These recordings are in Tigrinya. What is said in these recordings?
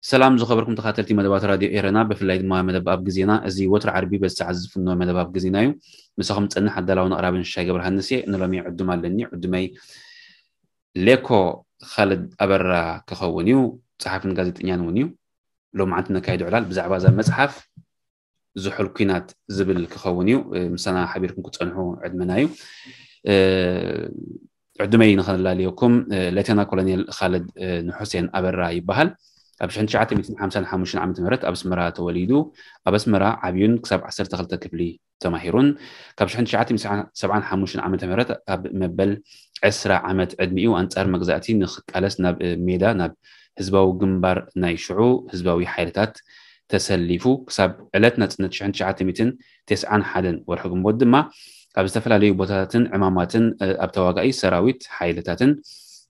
ሰላም ዝኸበርኩም ተኻተልቲ መደባት ራድዮ ኤረና፣ ብፍላይ ድማ መደብ ኣብ ግዜና። እዚ ወትሩ ዓርቢ በዚ ሰዓት ዝፍኖ መደብ ኣብ ግዜና እዩ። ምሳኹም ጸንሕ ኣዳላውን ኣቕራብን ሽሻይ ገብረሃንስ እየ። ንሎሚ ዕዱም ኣለኒ። ዕዱመይ ሌኮ ኻልድ ኣበራ ክኸውን እዩ። ጸሓፍን ጋዜጠኛን እውን እዩ። ሎማዓንቲ ነካይዶ ዕላል ብዛዕባ እዛ መጽሓፍ ዝሑል ኲናት ዝብል ክኸውን እዩ። ምሳና ሓቢርኩም ክትጸንሑ ዕድመና እዩ። ዕድመይ ንኸነላልየኩም፣ ሌተና ኮሎኔል ኻልድ ንሑሴን ኣበራ ይበሃል። ኣብ ሽሕን ትሽዓተ ሚእትን ሓምሳን ሓሙሽተን ዓመተ ምህረት ኣብ ኣስመራ ተወሊዱ። ኣብ ኣስመራ ዓብዩን ክሳብ ዓሰርተ ክልተ ክፍሊ ተማሂሩን፣ ካብ ሽሕን ትሽዓተ ሚእትን ሰብዓን ሓሙሽተን ዓመተ ምህረት ኣብ መበል ዕስራ ዓመት ዕድሚኡ ኣንጻር መግዛእቲ ንኽቃለስ ናብ ሜዳ፣ ናብ ህዝባዊ ግንባር ናይ ሽዑ ህዝባዊ ሓይልታት ተሰሊፉ። ክሳብ ዕለት ናጽነት ሽሕን ትሽዓተ ሚእትን ተስዓን ሓደን ወርሒ ግንቦት ድማ ኣብ ዝተፈላለዩ ቦታታትን ዕማማትን ኣብ ተዋጋኢ ሰራዊት ሓይልታትን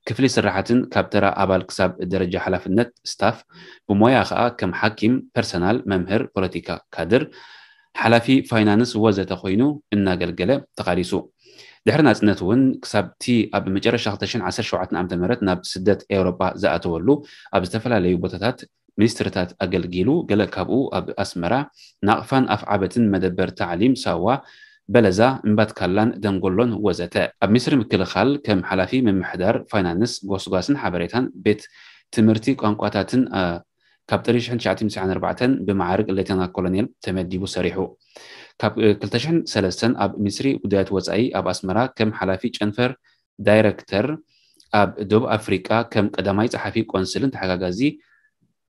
ክፍሊ ስራሓትን ካብ ተራ ኣባል ክሳብ ደረጃ ሓላፍነት ስታፍ ብሞያ ኸኣ ከም ሓኪም፣ ፐርሰናል፣ መምህር፣ ፖለቲካ ካድር፣ ሓላፊ ፋይናንስ ወዘተ ኮይኑ እናገልገለ ተቓሊሱ። ድሕሪ ናጽነት እውን ክሳብቲ ኣብ መጨረሻ ክልተ ሽሕን ዓሰርተ ሸውዓተን ዓመተ ምህረት ናብ ስደት ኤውሮጳ ዝኣተወሉ ኣብ ዝተፈላለዩ ቦታታት ሚኒስትርታት ኣገልጊሉ፣ ገለ ካብኡ ኣብ ኣስመራ ናቕፋን ኣፍዓበትን መደበር ታዕሊም ሳዋ በለዛ እምባትካላን ደንጎሎን ወዘተ። ኣብ ሚኒስትሪ ምክልኻል ከም ሓላፊ ምምሕዳር ፋይናንስ፣ ጎስጓስን ሓበሬታን ቤት ትምህርቲ ቋንቋታትን ካብ ጥሪ ሽሕን ትሽዓተ ሚእትን ትስዓን ኣርባዕተን ብመዓርግ ሌተና ኮሎኔል ተመዲቡ ሰሪሑ። ካብ ክልተ ሽሕን ሰለስተን ኣብ ሚኒስትሪ ጉዳያት ወጻኢ ኣብ ኣስመራ ከም ሓላፊ ጨንፈር ዳይረክተር፣ ኣብ ደቡብ ኣፍሪቃ ከም ቀዳማይ ጸሓፊ ቆንስልን ተሓጋጋዚ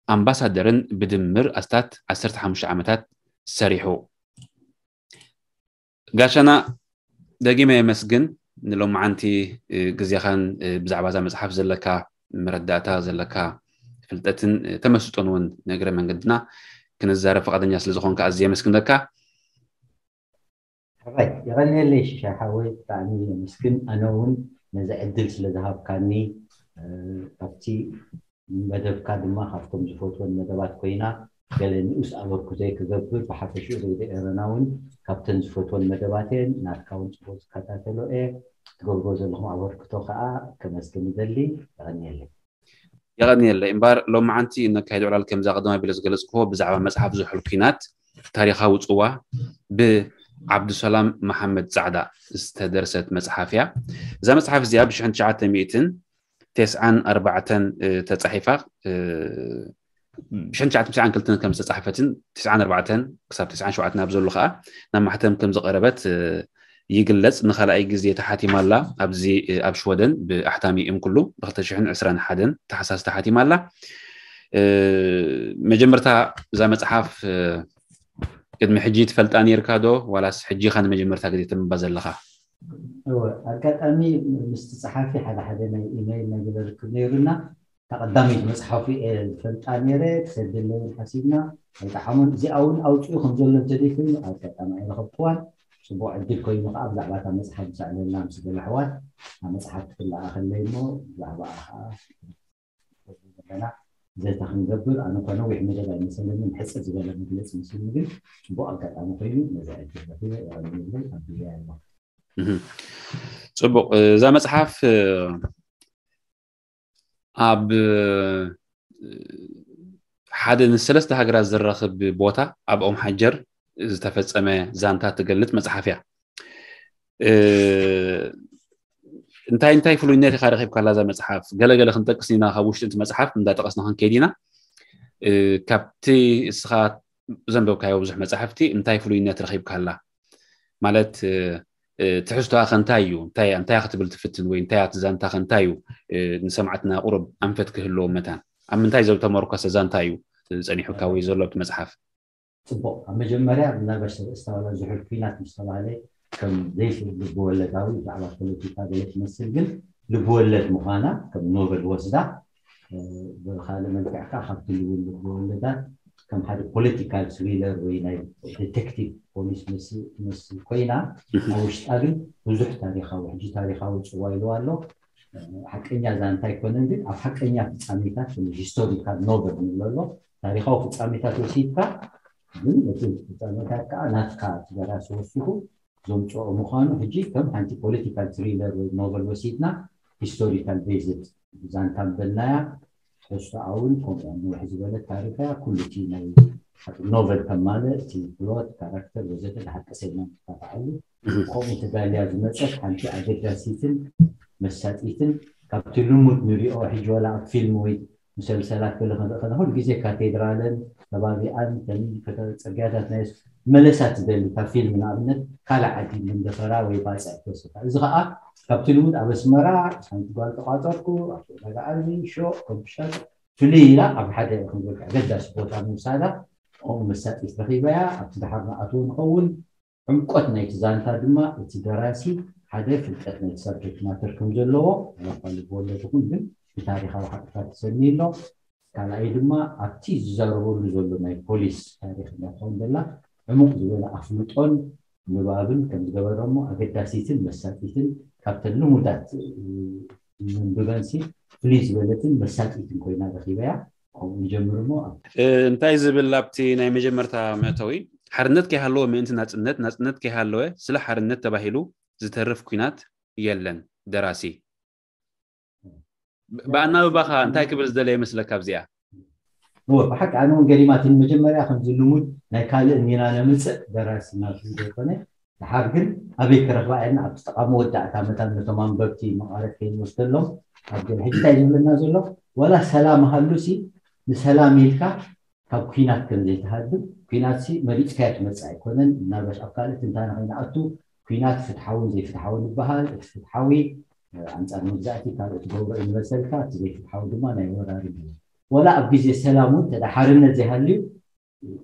ኣምባሳደርን ብድምር ኣስታት ዓሰርተ ሓሙሽተ ዓመታት ሰሪሑ። ጋሻና ደጊመ የመስግን ንሎማዓንቲ ግዜኻን ብዛዕባ እዛ መጽሓፍ ዘለካ መረዳእታ ዘለካ ፍልጠትን ተመስጦን እውን ንእግረ መንገድና ክንዛረብ ፈቓደኛ ስለ ዝኾንካ ኣዝየ የመስግነካ። ሕራይ የቐንየለይ ሽሻይ ሓወይ፣ ብጣዕሚ የመስግን። ኣነ እውን ነዚ ዕድል ስለ ዝሃብካኒ፣ ካብቲ መደብካ ድማ ካብቶም ዝፈትወን መደባት ኮይና፣ ገለ ንኡስ ኣበርክቶይ ክገብር፣ ብሓፈሽኡ ሬድዮ ኤረና እውን ካብተን ዝፈትወን መደባት እየን። ናትካ እውን ጽቡቕ ዝከታተሎ እየ። ትገብርዎ ዘለኹም ኣበርክቶ ከኣ ከመስግን ይደሊ። የቐንየለይ። የቐንየለይ። እምበኣር ሎማዓንቲ እነካይዶ ዕላል ከምዛ ቀደም ኣቢለ ዝገለጽክዎ ብዛዕባ መጽሓፍ ዝሑል ኲናት ታሪኻዊ ጽዋ ብዓብዱሰላም መሓመድ ጻዕዳ ዝተደርሰት መጽሓፍ እያ። እዛ መጽሓፍ እዚኣ ብሽሕን ትሽዓተ ሚእትን ተስዓን ኣርባዕተን ተጻሒፋ፣ ብሽሕን ትሽዓተ ሚእትን ተስዓን ክልተን ከም ዝተጻሕፈትን ተስዓን ኣርባዕተን ክሳብ ተስዓን ሸውዓተን ኣብ ዘሎ ከኣ ናብ ማሕተም ከም ዝቐረበት ይግለጽ። ንኻልኣይ ግዜ ተሓቲማ ኣላ ኣብዚ ኣብ ሽወደን ብኣሕታሚ እምኩሉ ብ ክልተ ሽሕን ዕስራን ሓደን ታሕሳስ ተሓቲማ ኣላ። መጀመርታ እዛ መጽሓፍ ቅድሚ ሕጂ ትፈልጣ ነይርካ ዶ ዋላስ ሕጂ ኢኻ ንመጀመርታ ግዜ ተንብባ ዘለኻ? እወ፣ ኣጋጣሚ ምስቲ ጸሓፊ ሓደ ሓደ ናይ ኢመይል ነገር ርክብ ነይሩና። እታ ቀዳመይቲ መጽሓፉ እየ ዝፈልጣ ነይረ፣ ክሰደለይ ሓሲብና ኣይጠዓሞን። እዚኣ እውን ኣውፅኡ ከም ዘሎ እንተደይ ኮይኑ ኣጋጣሚ ኣይረኸብክዋን። ጽቡቕ ዕድል ኮይኑ ከዓ ብዛዕባ እታ መጽሓፍ ዝሰዕለልና ምስ ገለ ኣሕዋት እታ መጽሓፍ ክትለኣኸለይ እሞ ብዛዕባኣ ከዓ ዘለና ዘተ ክንገብር፣ ኣነ እኳ ነዊሕ መደብ ኣይመሰለንን፣ ሕጽር ዝበለ መግለጺ መሲሉኒ፣ ግን ጽቡቕ ኣጋጣሚ ኮይኑ ነዚ ዕድል ረኺበ የቐንየለይ፣ ኣቢለያ ኣለኹ። ጽቡቕ። እዛ መጽሓፍ ኣብ ሓደ ንሰለስተ ሃገራት ዘራኽብ ቦታ ኣብ ኦም ሓጀር ዝተፈጸመ ዛንታ ትገልጽ መጽሓፍ እያ። እንታይ እንታይ ፍሉይነት ኢኻ ረኺብካላ እዛ መጽሓፍ? ገለገለ ክንጠቅስ ኢና፣ ካብ ውሽጢ እቲ መጽሓፍ እንዳጠቐስና ክንከይድ ኢና። ካብቲ እስኻ ዘንበብካዮ ብዙሕ መጻሕፍቲ እንታይ ፍሉይነት ረኺብካላ? ማለት ትሕዝቶኣ ከ እንታይ እዩ? እንታይ እንታይ ክትብል ትፍትን ወይ እንታይ ኣቲ ዛንታ ከ እንታይ እዩ? ንሰማዕትና ቁሩብ ኣንፈት ክህልዎ መታን ኣብ ምንታይ ዝተመርኮሰ ዛንታ እዩ ጸኒሑካ ወይ ዘሎ ኣብቲ መጽሓፍ? ፅቡቕ። ኣብ መጀመርያ ምናልባሽ ሰብ እስታውላ ዝሑል ኩናት ምስ ተባህለ ከም ዘይፍል ልብወለዳዊ ብዛዕባ ፖለቲካ ገለ ትመስል፣ ግን ልብወለድ ምዃና ከም ኖቨል ወስዳ፣ ብካልእ መልክዕ ከዓ ካብ ትልውን ልብወለዳት ከም ሓደ ፖለቲካል ትሪለር ወይ ናይ ዲቴክቲቭ ፖሊስ ትመስል ኮይና፣ ኣብ ውሽጣ ግን ብዙሕ ታሪካዊ፣ ሕጂ ታሪካዊ ፅዋ ኢልዋ ኣሎ። ሓቀኛ ዛንታ ኣይኮነን፣ ግን ኣብ ሓቀኛ ፍፃሜታት ሂስቶሪካል ኖቨል ንብሎ ኣሎ። ታሪካዊ ፍፃሜታት ወሲድካ፣ ግን እቲ ፍፃሜታት ከዓ ናትካ እቲ ደራሲ ወሲኹ ዘምፅኦ ምዃኑ፣ ሕጂ ከም ሓንቲ ፖለቲካል ትሪለር ወይ ኖቨል ወሲድና ሂስቶሪካል ቤዝድ ዛንታ ምበልናያ። ትሕዝቶኣ እውን ከምኡ ነውሕ ዝበለት ታሪክ እያ። ኩሉ እቲ ናይ ኖቨል ከም ማለት እቲ ፕሎት፣ ካራክተር ወዘተ ብሓቂ ሰይና ንተፋዕሉ ከምኡ ተዳልያ ዝመፀት ሓንቲ ኣገዳሲትን መሳጢትን ካብቲ ልሙድ ንሪኦ ሕጂ ዋላ ኣብ ፊልም ወይ ሙሰልሰላት ገለ ክንርኢ ከለና ኩሉ ግዜ ካቴድራለን ከባቢኣን ጽርግያታት ናይ መለሳት ዝደሊ ካብ ፊልም ንኣብነት ካልእ ዓዲ መንደፈራ ወይ ባጽዕ ክወስድካ። እዚ ከዓ ካብቲ ልሙድ ኣብ ኣስመራ ሓንቲ ጓል ተቋጸርኩ ኣብቲ ዕዳጋ ዓርቢ ሾቕ ኮምፒሻት ፍልይ ኢላ ኣብ ሓደ ክንብል ኣገዳሲ ቦታ ምውሳዳ ከምኡ መሳጢት ረኺበያ ኣብቲ ድሓር ንኣትዎ ንኸውን ዕምቆት ናይቲ ዛንታ ድማ እቲ ደራሲ ሓደ ፍልጠት ናይቲ ሳብጀክት ማተር ከም ዘለዎ ኣባል ወለድ ይኹን ግን ብታሪኻዊ ሓቅታት ተሰኒ ኣሎ። ካልኣይ ድማ ኣብቲ ዝዛረበሉ ዘሎ ናይ ፖሊስ ታሪክ እንዳትኸውን ዘላ ዕሙቕ ዝበለ ኣፍልጦን ንባብን ከም ዝገበረሞ ኣገዳሲትን መሳጢትን ካብተን ልሙዳት ምንብበንሲ ፍልይ ዝበለትን መሳጢትን ኮይና ረኪበያ። ከምኡ ንጀምር እሞ እንታይ ዝብል ኣብቲ ናይ መጀመርታ መእተዊ ሓርነት ከይሃለወ ምእንቲ ናፅነት ናፅነት ከይሃለወ ስለ ሓርነት ተባሂሉ ዝተርፍ ኩናት የለን። ደራሲ ብኣናብባኻ እንታይ ክብል ዝደለ ይመስለካ ኣብዚኣ? እወ ብሓቂ ኣነ እውን ገሪማትኒ መጀመርያ ከምዚ ልሙድ ናይ ካልእ ሚና ነምፅእ ደራሲ ናብ ዘይኮነ ድሓር ግን ኣበይ ክረኽባ እየን ኣብቲ ጠቓሚ ወዳእታ መታን ነቶም ኣንበብቲ መቓረት ከይንወስደሎም ኣብ ገለ ሕጂ እንታይ ዝብለና ዘሎ ዋላ ሰላም ሃሉ ሲ ንሰላም ኢልካ ካብ ኩናት ከም ዘይትሃድም ኩናት ሲ መሪፅካዮ ትመፅእ ኣይኮነን ምናልባሽ ኣብ ካልእ ትንታነ ከይንኣቱ ኩናት ፍትሓውን ዘይፍትሓውን ይበሃል እቲ ፍትሓዊ ኣንፃር መግዛእቲ ካልእ ትገብሮ እዩ ንመሰልካ እቲ ዘይፍትሓዊ ድማ ናይ ወራሪ እዩ ወላ ኣብ ግዜ ሰላም እውን ተዳ ሓርነት ዘይሃልዩ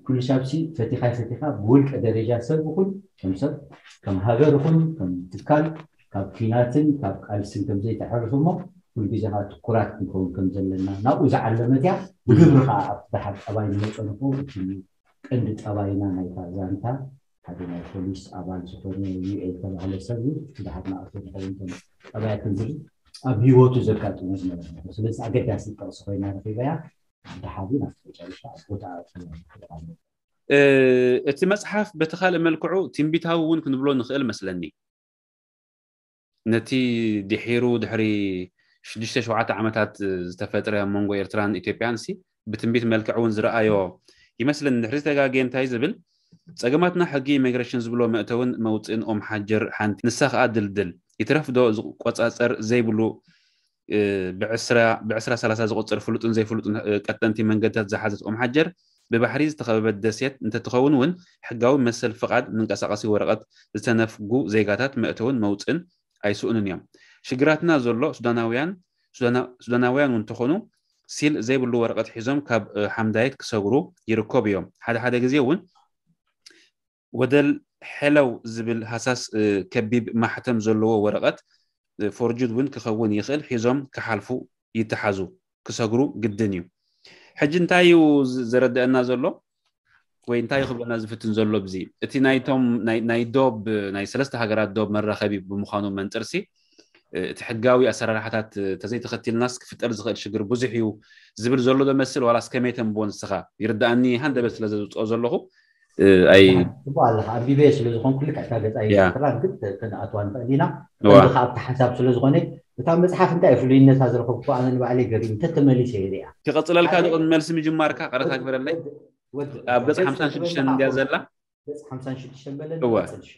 ኩሉ ሳብሲ ፈቲኻ ፈቲኻ ብውልቀ ደረጃ ሰብ ይኹን ከም ሰብ ከም ሃገር ይኹን ከም ትካል ካብ ኲናትን ካብ ቃልስን ከም ዘይተሕርፍ እሞ ኩሉ ግዜ ከዓ ትኩራት ክንከውን ከም ዘለና ናብኡ ዝዓለመት እያ። ብግብሪ ከዓ ኣብቲ ደሓር ጠባይ ንመፀ ንክው እቲ ቀንዲ ጠባይና ናይታ ዛንታ ሓደ ናይ ፖሊስ ኣባል ዝኾነ ዩኤል ተባህለ ሰብ እዩ። እቲ ደሓር ንኣቶ ንኸውን ከም ጠባያትን ዝብል ኣብ ህይወቱ ዘጋጥሞ ዝነበረ ነገር ስለዚ ኣገዳሲ ጥቕሲ ኮይና ረኺበያ። ደሓር ናብቲ መጨረሻ ኣብ ቦታ እቲ መፅሓፍ በቲ ካልእ መልክዑ ትንቢታዊ እውን ክንብሎ ንኽእል መስለኒ። ነቲ ድሒሩ ድሕሪ ሽዱሽተ ሸውዓተ ዓመታት ዝተፈጥረ ኣብ መንጎ ኤርትራን ኢትዮጵያን ሲ ብትንቢት መልክዕ እውን ዝረኣዮ ይመስለኒ። ድሕሪ ዝተጋግየ እንታይ ዝብል ጸገማትና ሕጊ ኢሚግሬሽን ዝብሎ መእተውን መውፅእን ኦም ሓጀር ሓንቲ ንሳ ከዓ ድልድል ይትረፍ ዶ ዝቆጻጸር ዘይብሉ ብዕስራ ሰላሳ ዝቆጽር ፍሉጥን ዘይፍሉጥን ቀጠንቲ መንገድታት ዝሓዘት ኦም ሓጀር ብባሕሪ ዝተኸበበት ደሴት እንተትኸውን እውን ሕጋዊ መሰል ፍቓድ መንቀሳቐሲ ወረቐት ዝተነፍጉ ዜጋታት መእተውን መውፅእን ኣይስኡንን እዮም። ሽግራትና ዘሎ ሱዳናውያን ሱዳናውያን እውን እንተኾኑ ሲል ዘይብሉ ወረቐት ሒዞም ካብ ሓምዳየት ክሰግሩ ይርከቡ እዮም። ሓደ ሓደ ግዜ እውን ወደል ሐለው ዝብል ሃሳስ ከቢብ ማሕተም ዘለዎ ወረቐት ፎርጅድ እውን ክኸውን ይኽእል ሒዞም ክሓልፉ ይተሓዙ ክሰግሩ ግድን እዩ። ሕጂ እንታይ እዩ ዘረድአና ዘሎ ወይ እንታይ ክብለና ዝፍትን ዘሎ ብዚ እቲ ናይቶም ናይ ዶብ ናይ ሰለስተ ሃገራት ዶብ መራኸቢ ብምዃኑ መንጥርሲ እቲ ሕጋዊ ኣሰራርሓታት ተዘይተኸቲልናስ ክፍጠር ዝኽእል ሽግር ብዙሕ እዩ ዝብል ዘሎ ዶ መስል ዋላስ ከመይ ተንብቦ ንስኻ? ይርድኣኒ ሃንደበት ስለ ዘውፅኦ ዘለኹ ኣይ ጽቡቅ ኣለካ ኣንቢበ ስለ ዝኾንኩ ልክዕ እታ ገጻ ይዝክራ ግን ክንኣትዋ ንኽእል ኢና ቀንዲ ከኣ ኣብቲ ሓሳብ ስለ ዝኾነ እታ መጽሓፍ እንታይ ፍሉይነታ ዝረኸብኩ ኣነ ንባዕለይ ገሪም እንተተመሊሰ ይሪኣ ክቐጽለልካ ዶ ቅድሚ መልሲ ምጅማርካ ቀረታ ግበረለይ ኣብ ገጽ ሓምሳን ሽዱሽተን እንድያ ዘላ ገጽ ሓምሳን ሽዱሽተን በለኒ እወ ቀጽል እሺ።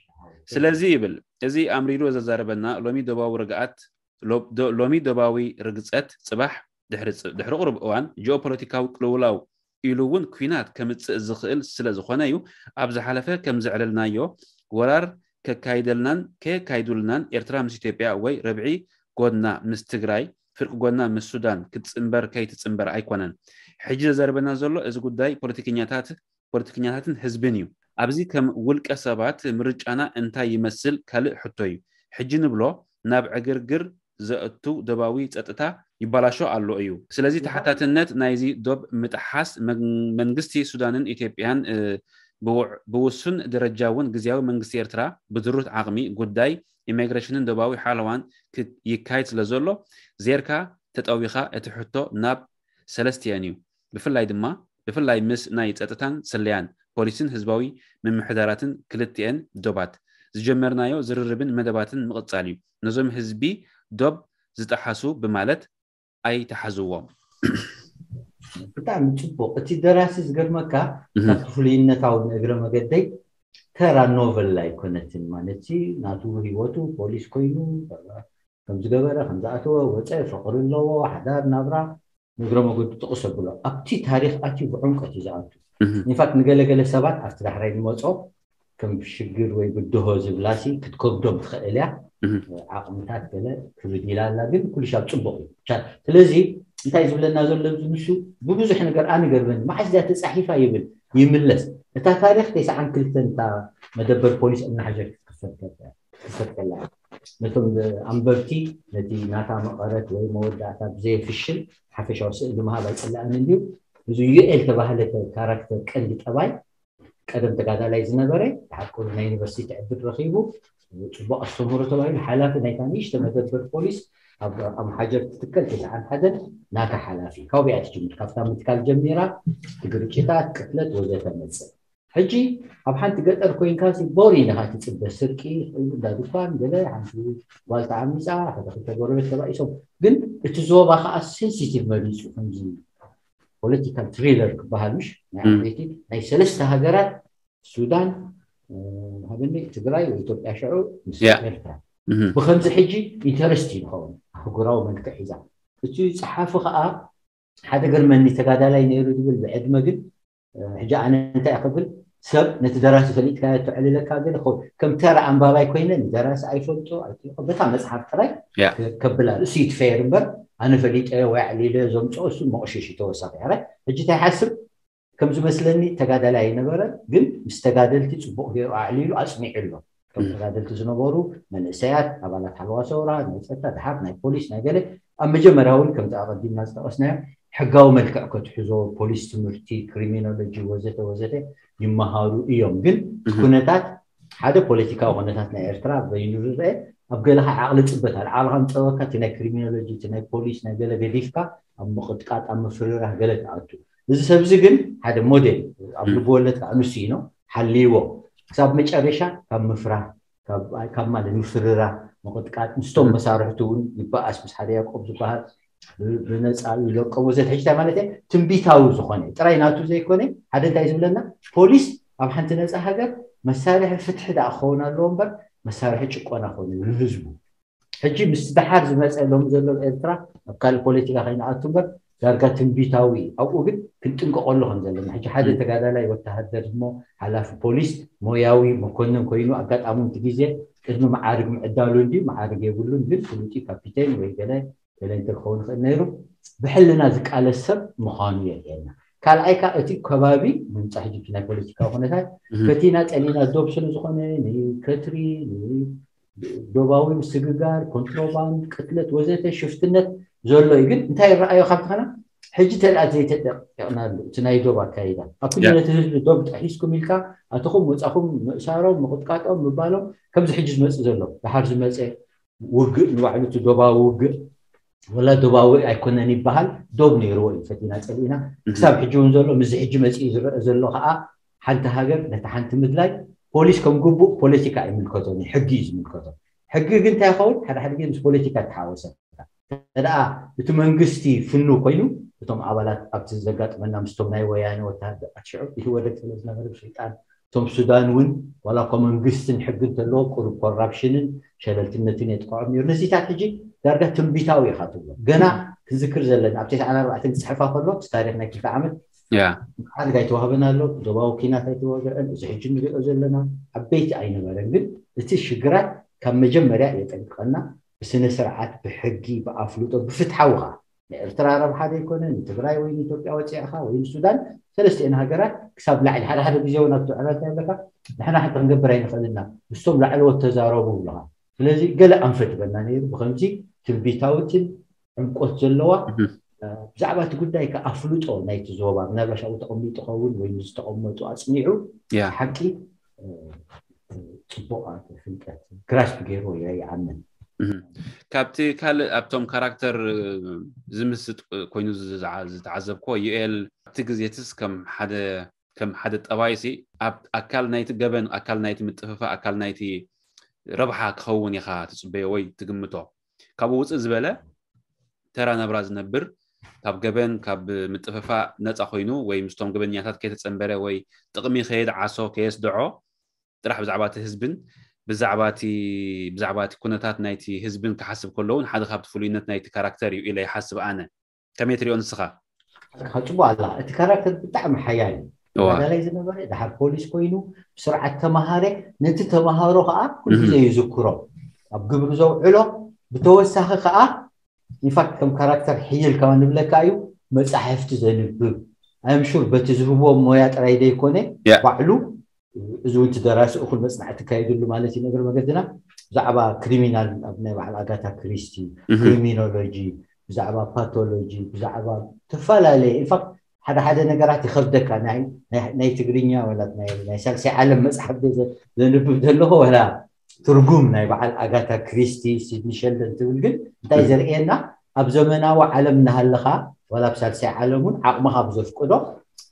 ስለዚ ይብል እዚ ኣምሪሩ ዘዛረበና ሎሚ ዶባዊ ርግኣት ሎሚ ዶባዊ ርግጸት ጽባሕ ድሕሪ ቁሩብ እዋን ጂኦፖለቲካዊ ቅልውላው ኢሉ እውን ኲናት ከምጽእ ዝኽእል ስለ ዝኾነ እዩ። ኣብ ዝሓለፈ ከም ዘዕለልናዮ ወራር ከካይደልናን ከየካይዱልናን ኤርትራ ምስ ኢትዮጵያ ወይ ርብዒ ጎድና ምስ ትግራይ ፍርቂ ጎድና ምስ ሱዳን ክትጽንበር ከይትጽንበር ኣይኮነን። ሕጂ ዘዘርበና ዘሎ እዚ ጉዳይ ፖለቲከኛታት ፖለቲከኛታትን ህዝብን እዩ። ኣብዚ ከም ውልቀ ሰባት ምርጫና እንታይ ይመስል ካልእ ሕቶ እዩ። ሕጂ ንብሎ ናብ ዕግርግር ዘእቱ ደባዊ ጸጥታ ይባላሾ ኣሎ እዩ። ስለዚ ተሓታትነት ናይዚ ዶብ ምጥሓስ መን- መንግስቲ ሱዳንን ኢትዮጵያን እ፣ ብውዕ- ብውሱን ደረጃ እውን ግዝያዊ መንግስቲ ኤርትራ ብድሩት ዓቕሚ ጉዳይ ኢሚግሬሽንን ደባዊ ሓለዋን ክ- ይካየድ ስለ ዘሎ ዜርካ ተጠዊኻ እቲ ሕቶ ናብ ሰለስቲአን እዩ። ብፍላይ ድማ ብፍላይ ምስ ናይ ጸጥታን ስለያን ፖሊስን ህዝባዊ ምምሕዳራትን ክልቲኤን ዶባት ዝጀመርናዮ ዝርርብን መደባትን ምቕጻል እዩ። ነዞም ህዝቢ ዶብ ዝጠሓሱ ብማለት ኣይተሓዝዎም። ብጣዕሚ ጽቡቕ። እቲ ደራሲ ዝገርመካ ካብቲ ፍሉይነታዊ ንእግረ መገደይ ተራ ኖቨል ኣይኮነትን። ማለት ናቱ ህይወቱ ፖሊስ ኮይኑ ከም ዝገበረ ከም ዝኣተወ ወፀ፣ ፍቕሪ ኣለዎ፣ ሓዳር ናብራ ንእግረ መገዱ ጥቕስ ኣብሎ። ኣብቲ ታሪኽ ኣትዩ ብዕምቀት እዩ ዝኣቱ። ኢንፋክት ንገለገለ ሰባት ኣብቲ ዳሕራይ ንመጾ ከም ሽግር ወይ ብድሆ ዝብላሲ ክትከብዶም ትኽእል እያ። ዓቕምታት ገለ ክብድ ኢላ ኣላ፣ ግን ኩሉ ሻብ ጽቡቕ እዩ። ስለዚ እንታይ ዝብለና ዘሎ ንሱ ብብዙሕ ነገር ኣነ ገርመኒ፣ መዓስ እዚኣ ተጻሒፋ ይብል ይምለስ። እታ ታሪኽ ተስዓን ክልተን እታ መደበር ፖሊስ እምናሓጀር ክትክፈት ከላ ነቶም ኣንበብቲ ነቲ ናታ መቐረት ወይ መወዳእታ ብዘየፍሽል ሓፈሻዊ ስእሊ ምሃብ ኣይጸላእን እንድዩ። እዚ ዩኤል ተባህለ ካራክተር ቀንዲ ጠባይ ቀደም ተጋዳላይ ዝነበረ ሓቁ ናይ ዩኒቨርሲቲ ዕድል ረኺቡ ጽቡቕ ኣስተምህሮ ተባሂሉ ሓላፊ ናይታ ንእሽተ መደበር ፖሊስ ኣብ ኣምሓጀር ትትከል ተስዓን ሓደን ናታ ሓላፊ ካብኡ እያ ትጅምር። ካብታ ምትካል ጀሚራ ግርጭታት፣ ቅትለት ወዘተ መጽእ። ሕጂ ኣብ ሓንቲ ገጠር ኮይንካ ሲ ቦሪንግ ኢኻ ትጽበ፣ ስርቂ፣ እንዳ ድኳን ገለ ሓንቲ ጓል ተዓሚፃ፣ ሓደ ክልተ ጎረቤት ተባኢሶም። ግን እቲ ዞባ ከዓ ሴንሲቲቭ መሪፁ ከምዚ ፖለቲካል ትሪለር ክበሃል ምሽ ናይ ዓበይቲ ናይ ሰለስተ ሃገራት ሱዳን ሃበኒ ትግራይ ወይ ኢትዮጵያ ሽዑ ምስ ኤርትራ ብከምዚ ሕጂ ኢንተረስት እዩ ዝኸውን ኣህጉራዊ መልክዕ ሒዛ። እቲ ፀሓፊ ከዓ ሓደ ገርመኒ ተጋዳላይ ነይሩ ዝብል ብዕድመ ግን ሕጂ ኣነ እንታይ ክብል ሰብ ነቲ ደራሲ ፈሊጥካ ተዕልለካ ገለ ከም ተራ ኣንባባይ ኮይነ ንደራሲ ኣይፈልጦ ኣይጥልቆ በታ መፅሓፍ ጥራይ ከብላ እሱ ይትፈየር እምበር ኣነ ፈሊጠ ወይ ኣዕሊለ ዘምፅኦ እሱ መቕሸሽ ተወሳኺ ሕጂ እንታይ ሓስብ ከም ዝመስለኒ ተጋዳላይ ኣይነበረ ግን ምስ ተጋደልቲ ፅቡቕ ገይሩ ኣዕሊሉ ኣፅኒዑ ኣሎ ከም ተጋደልቲ ዝነበሩ መንእሰያት ኣባላት ሓለዋ ሰውራ ናይ ፀጥታ ድሓር ናይ ፖሊስ ናይ ገለ ኣብ መጀመርያ እውን ከምቲ ኣቐዲምና ዝጠቐስናዮ ሕጋዊ መልክዕ ከትሕዞ ፖሊስ ትምህርቲ ክሪሚኖሎጂ ወዘተ ወዘተ ይመሃሩ እዮም ግን ኩነታት ሓደ ፖለቲካዊ ኩነታት ናይ ኤርትራ በይኑ ዝረአ ኣብ ገለካ ዓቕሊ ፅበት ኣለ ዓቕልካ ምፀበካ እቲ ናይ ክሪሚኖሎጂ እቲ ናይ ፖሊስ ናይ ገለ ገዲፍካ ኣብ ምቕጥቃጥ ኣብ ምፍርራህ ገለ ትኣቱ እዚ ሰብዚ ግን ሓደ ሞዴል ኣብ ልብወለድ ከዓ ንሱ ኢኖ ሓልይዎ ክሳብ መጨረሻ ካብ ምፍራህ ካብ ማለት ምፍርራህ ምቕጥቃጥ ምስቶም መሳርሕቲ እውን ይበኣስ ምስ ሓደ ያዕቆብ ዝበሃል ብነፃ ይለቀም ወዘተ ሕጂ እንታይ ማለት እየ ትንቢታዊ ዝኾነ ጥራይ ናቱ ዘይኮነ ሓደ እንታይ ዝብለና ፖሊስ ኣብ ሓንቲ ነፃ ሃገር መሳርሒ ፍትሒ ደኣ ክኸውን ኣለዎ እምበር መሳርሒ ጭቆና ክኾነ ንህዝቡ ሕጂ ምስ ደሓር ዝመፀ ሎም ዘሎ ኤርትራ ኣብ ካልእ ፖለቲካ ከይንኣቱ እምበር ዳርጋ ትንቢታዊ ኣብኡ ግን ክንጥንቀቀሉ ከም ዘለና ሕጂ ሓደ ተጋዳላይ ወተሃደር እሞ ሓላፊ ፖሊስ ሞያዊ መኮንን ኮይኑ ኣጋጣሚ እቲ ግዜ ቅድሚ መዓርግ ምዕዳሉ እንዲ መዓርግ የብሉን ግን ፍሉጢ ካፒቴን ወይ ገለ ገለ እንተክኸውን ይኽእል ነይሩ ብሕልና ዝቃለስ ሰብ ምዃኑ የርእየና ካልኣይ ካ እቲ ከባቢ ምምፃ ሕጂ ናይ ፖለቲካዊ ኩነታት ፈቲና ጠሊና ዶብ ስለ ዝኾነ ንከትሪ ዶባዊ ምስግጋር፣ ኮንትሮባንድ፣ ቅትለት ወዘተ ሽፍትነት ዘሎ እዩ። ግን እንታይ ይረኣዮ ካብ ተኸና ሕጂ ተልኣት ዘይተጠቂቕናሉ እቲ ናይ ዶብ ኣካይዳ ኣብ ኩሉ ነቲ ህዝቢ ዶብ ጥሒስኩም ኢልካ ኣተኹም ወፃኹም ምእሳሮም ምቕጥቃጦም ምባሎም ከምዚ ሕጂ ዝመፅእ ዘሎ ድሓር ዝመፀ ውግእ ንባዕሉ እቲ ዶባዊ ውግእ ወላ ዶባዊ ኣይኮነን ይበሃል ዶብ ነይርዎ እዩ ፈቲና ፀሊእና ክሳብ ሕጂ እውን ዘሎ ምዚ ሕጂ መፅኡ ዝረአ ዘሎ ከዓ ሓንቲ ሃገር ነቲ ሓንቲ ምድላይ ፖሊስ ከም ግቡእ ፖለቲካ ኣይምልከቶን እዩ ሕጊ እዩ ዝምልከቶ ሕጊ ግን እንታይ ይኸውን ሓደ ሓደ ግዜ ምስ ፖለቲካ ተሓወሰ ተደኣ እቲ መንግስቲ ፍኑ ኮይኑ እቶም ኣባላት ኣብቲ ዘጋጥመና ምስቶም ናይ ወያነ ወተሃደራት ሽዑ ይህወደግ ስለ ዝነበረ ብስልጣን እቶም ሱዳን እውን ዋላ እኳ መንግስትን ሕግን ተለዎ ቁሩብ ኮራፕሽንን ሸለልትነትን የጥቅዖም ነይሩ ነዚታት ሕጂ ዳርጋ ትንቢታዊ ኢኻ ትብሎ ገና ክንዝክር ዘለና ኣብ ተስዓን ኣርባዕተን ክፅሕፋ ከሎ እቲ ታሪክ ናይ ክልተ ዓመት ማዕርግ ኣይተዋህበን ኣሎ ዶባዊ ኪናት ኣይተወግዐን እዚ ሕጂ ንሪኦ ዘለና ዓበይቲ ኣይነበረን ግን እቲ ሽግራት ካብ መጀመርያ የጠንቅቐና ብስነ ስርዓት ብሕጊ ብኣፍልጦ ብፍትሓዊ ከዓ ንኤርትራ ረብሓ ዘይኮነ ንትግራይ ወይ ንኢትዮጵያ ወፂእኻ ወይ ንሱዳን ሰለስቲኤን ሃገራት ክሳብ ላዕሊ ሓደ ሓደ ግዜ እውን ኣብቲ ዕረት ኣለካ ንሕና ሓንቲ ክንገብር ኣይንኽእልና ምስቶም ላዕለዎት ተዛረቡ ብለኻ ስለዚ ገለ ኣንፈት በና ነይሩ ብከምዚ ትንቢታዊትን ዕምቆት ዘለዋ ብዛዕባ እቲ ጉዳይ ከኣፍልጦ ናይቲ ዞባ ምናልባሽ ኣብኡ ተቐሚጡ ኸውን ወይ ዝተቐመጡ ኣፅኒዑ ሓቂ ፅቡቕ ፍልጠት ግራስፕ ገይሩ ይኣምን ካብቲ ካልእ ኣብቶም ካራክተር ዝምስጥ ኮይኑ ዝተዓዘብኮ ዩኤል ኣብቲ ግዜትስ ከም ሓደ ከም ሓደ ጠባይሲ ኣብ ኣካል ናይቲ ገበን ኣካል ናይቲ ምጥፍፋ ኣካል ናይቲ ረብሓ ክኸውን ኢኻ ትፅበዮ ወይ ትግምቶ ካብኡ ውፅእ ዝበለ ተራ ናብራ ዝነብር ካብ ገበን ካብ ምጥፍፋ ነፃ ኮይኑ ወይ ምስቶም ገበኛታት ከይተፀንበረ ወይ ጥቕሚ ከየድዓሶ ከየስድዖ ጥራሕ ብዛዕባ እቲ ህዝብን ብዛዕባ እቲ ብዛዕባ እቲ ኩነታት ናይቲ ህዝብን ክሓስብ ከለውን ሓደ ካብቲ ፍሉይነት ናይቲ ካራክተር እዩ ኢለ ይሓስብ ኣነ ከመይ ትሪኦ ንስኻ ጽቡቅ ኣላ እቲ ካራክተር ብጣዕሚ ሓያል እዩ ተጋዳላይ ዝነበረ ድሓር ፖሊስ ኮይኑ ብስርዓት ተማሃረ ነቲ ተማሃሮ ከዓ ኩሉ ግዜ ይዝክሮ ኣብ ግብሪ ዘውዕሎ ብተወሳኺ ከዓ ኢንፋክት ከም ካራክተር ሕይል ከማ ንብለካ እዩ መፃሕፍቲ ዘንብብ ኣምሹር በቲ ዝህብዎ ሞያ ጥራይ ዘይኮነ ባዕሉ እዚ እውን ደራሲ እኹል መፅናዕቲ ካየድሉ ማለት እዩ ነገር መገድና ብዛዕባ ክሪሚናል ኣብ ናይ በዓል ኣጋታ ክሪስቲ ክሪሚኖሎጂ ብዛዕባ ፓቶሎጂ ብዛዕባ ተፈላለየ ኢንፋክት ሓደ ሓደ ነገራት ይኸብደካ ናይ ትግርኛ ወላ ናይ ሳልሳይ ዓለም መፅሓፍ ዘንብብ ዘለኹ ወላ ትርጉም ናይ በዓል ኣጋታ ክሪስቲ ሲድኒ ሸልደን ትብል ግን እንታይ ዘርእየና ኣብ ዘመናዊ ዓለም እናሃለኻ ዋላ ኣብ ሳልሳይ ዓለም እውን ዓቕምኻ ብዘፍቅዶ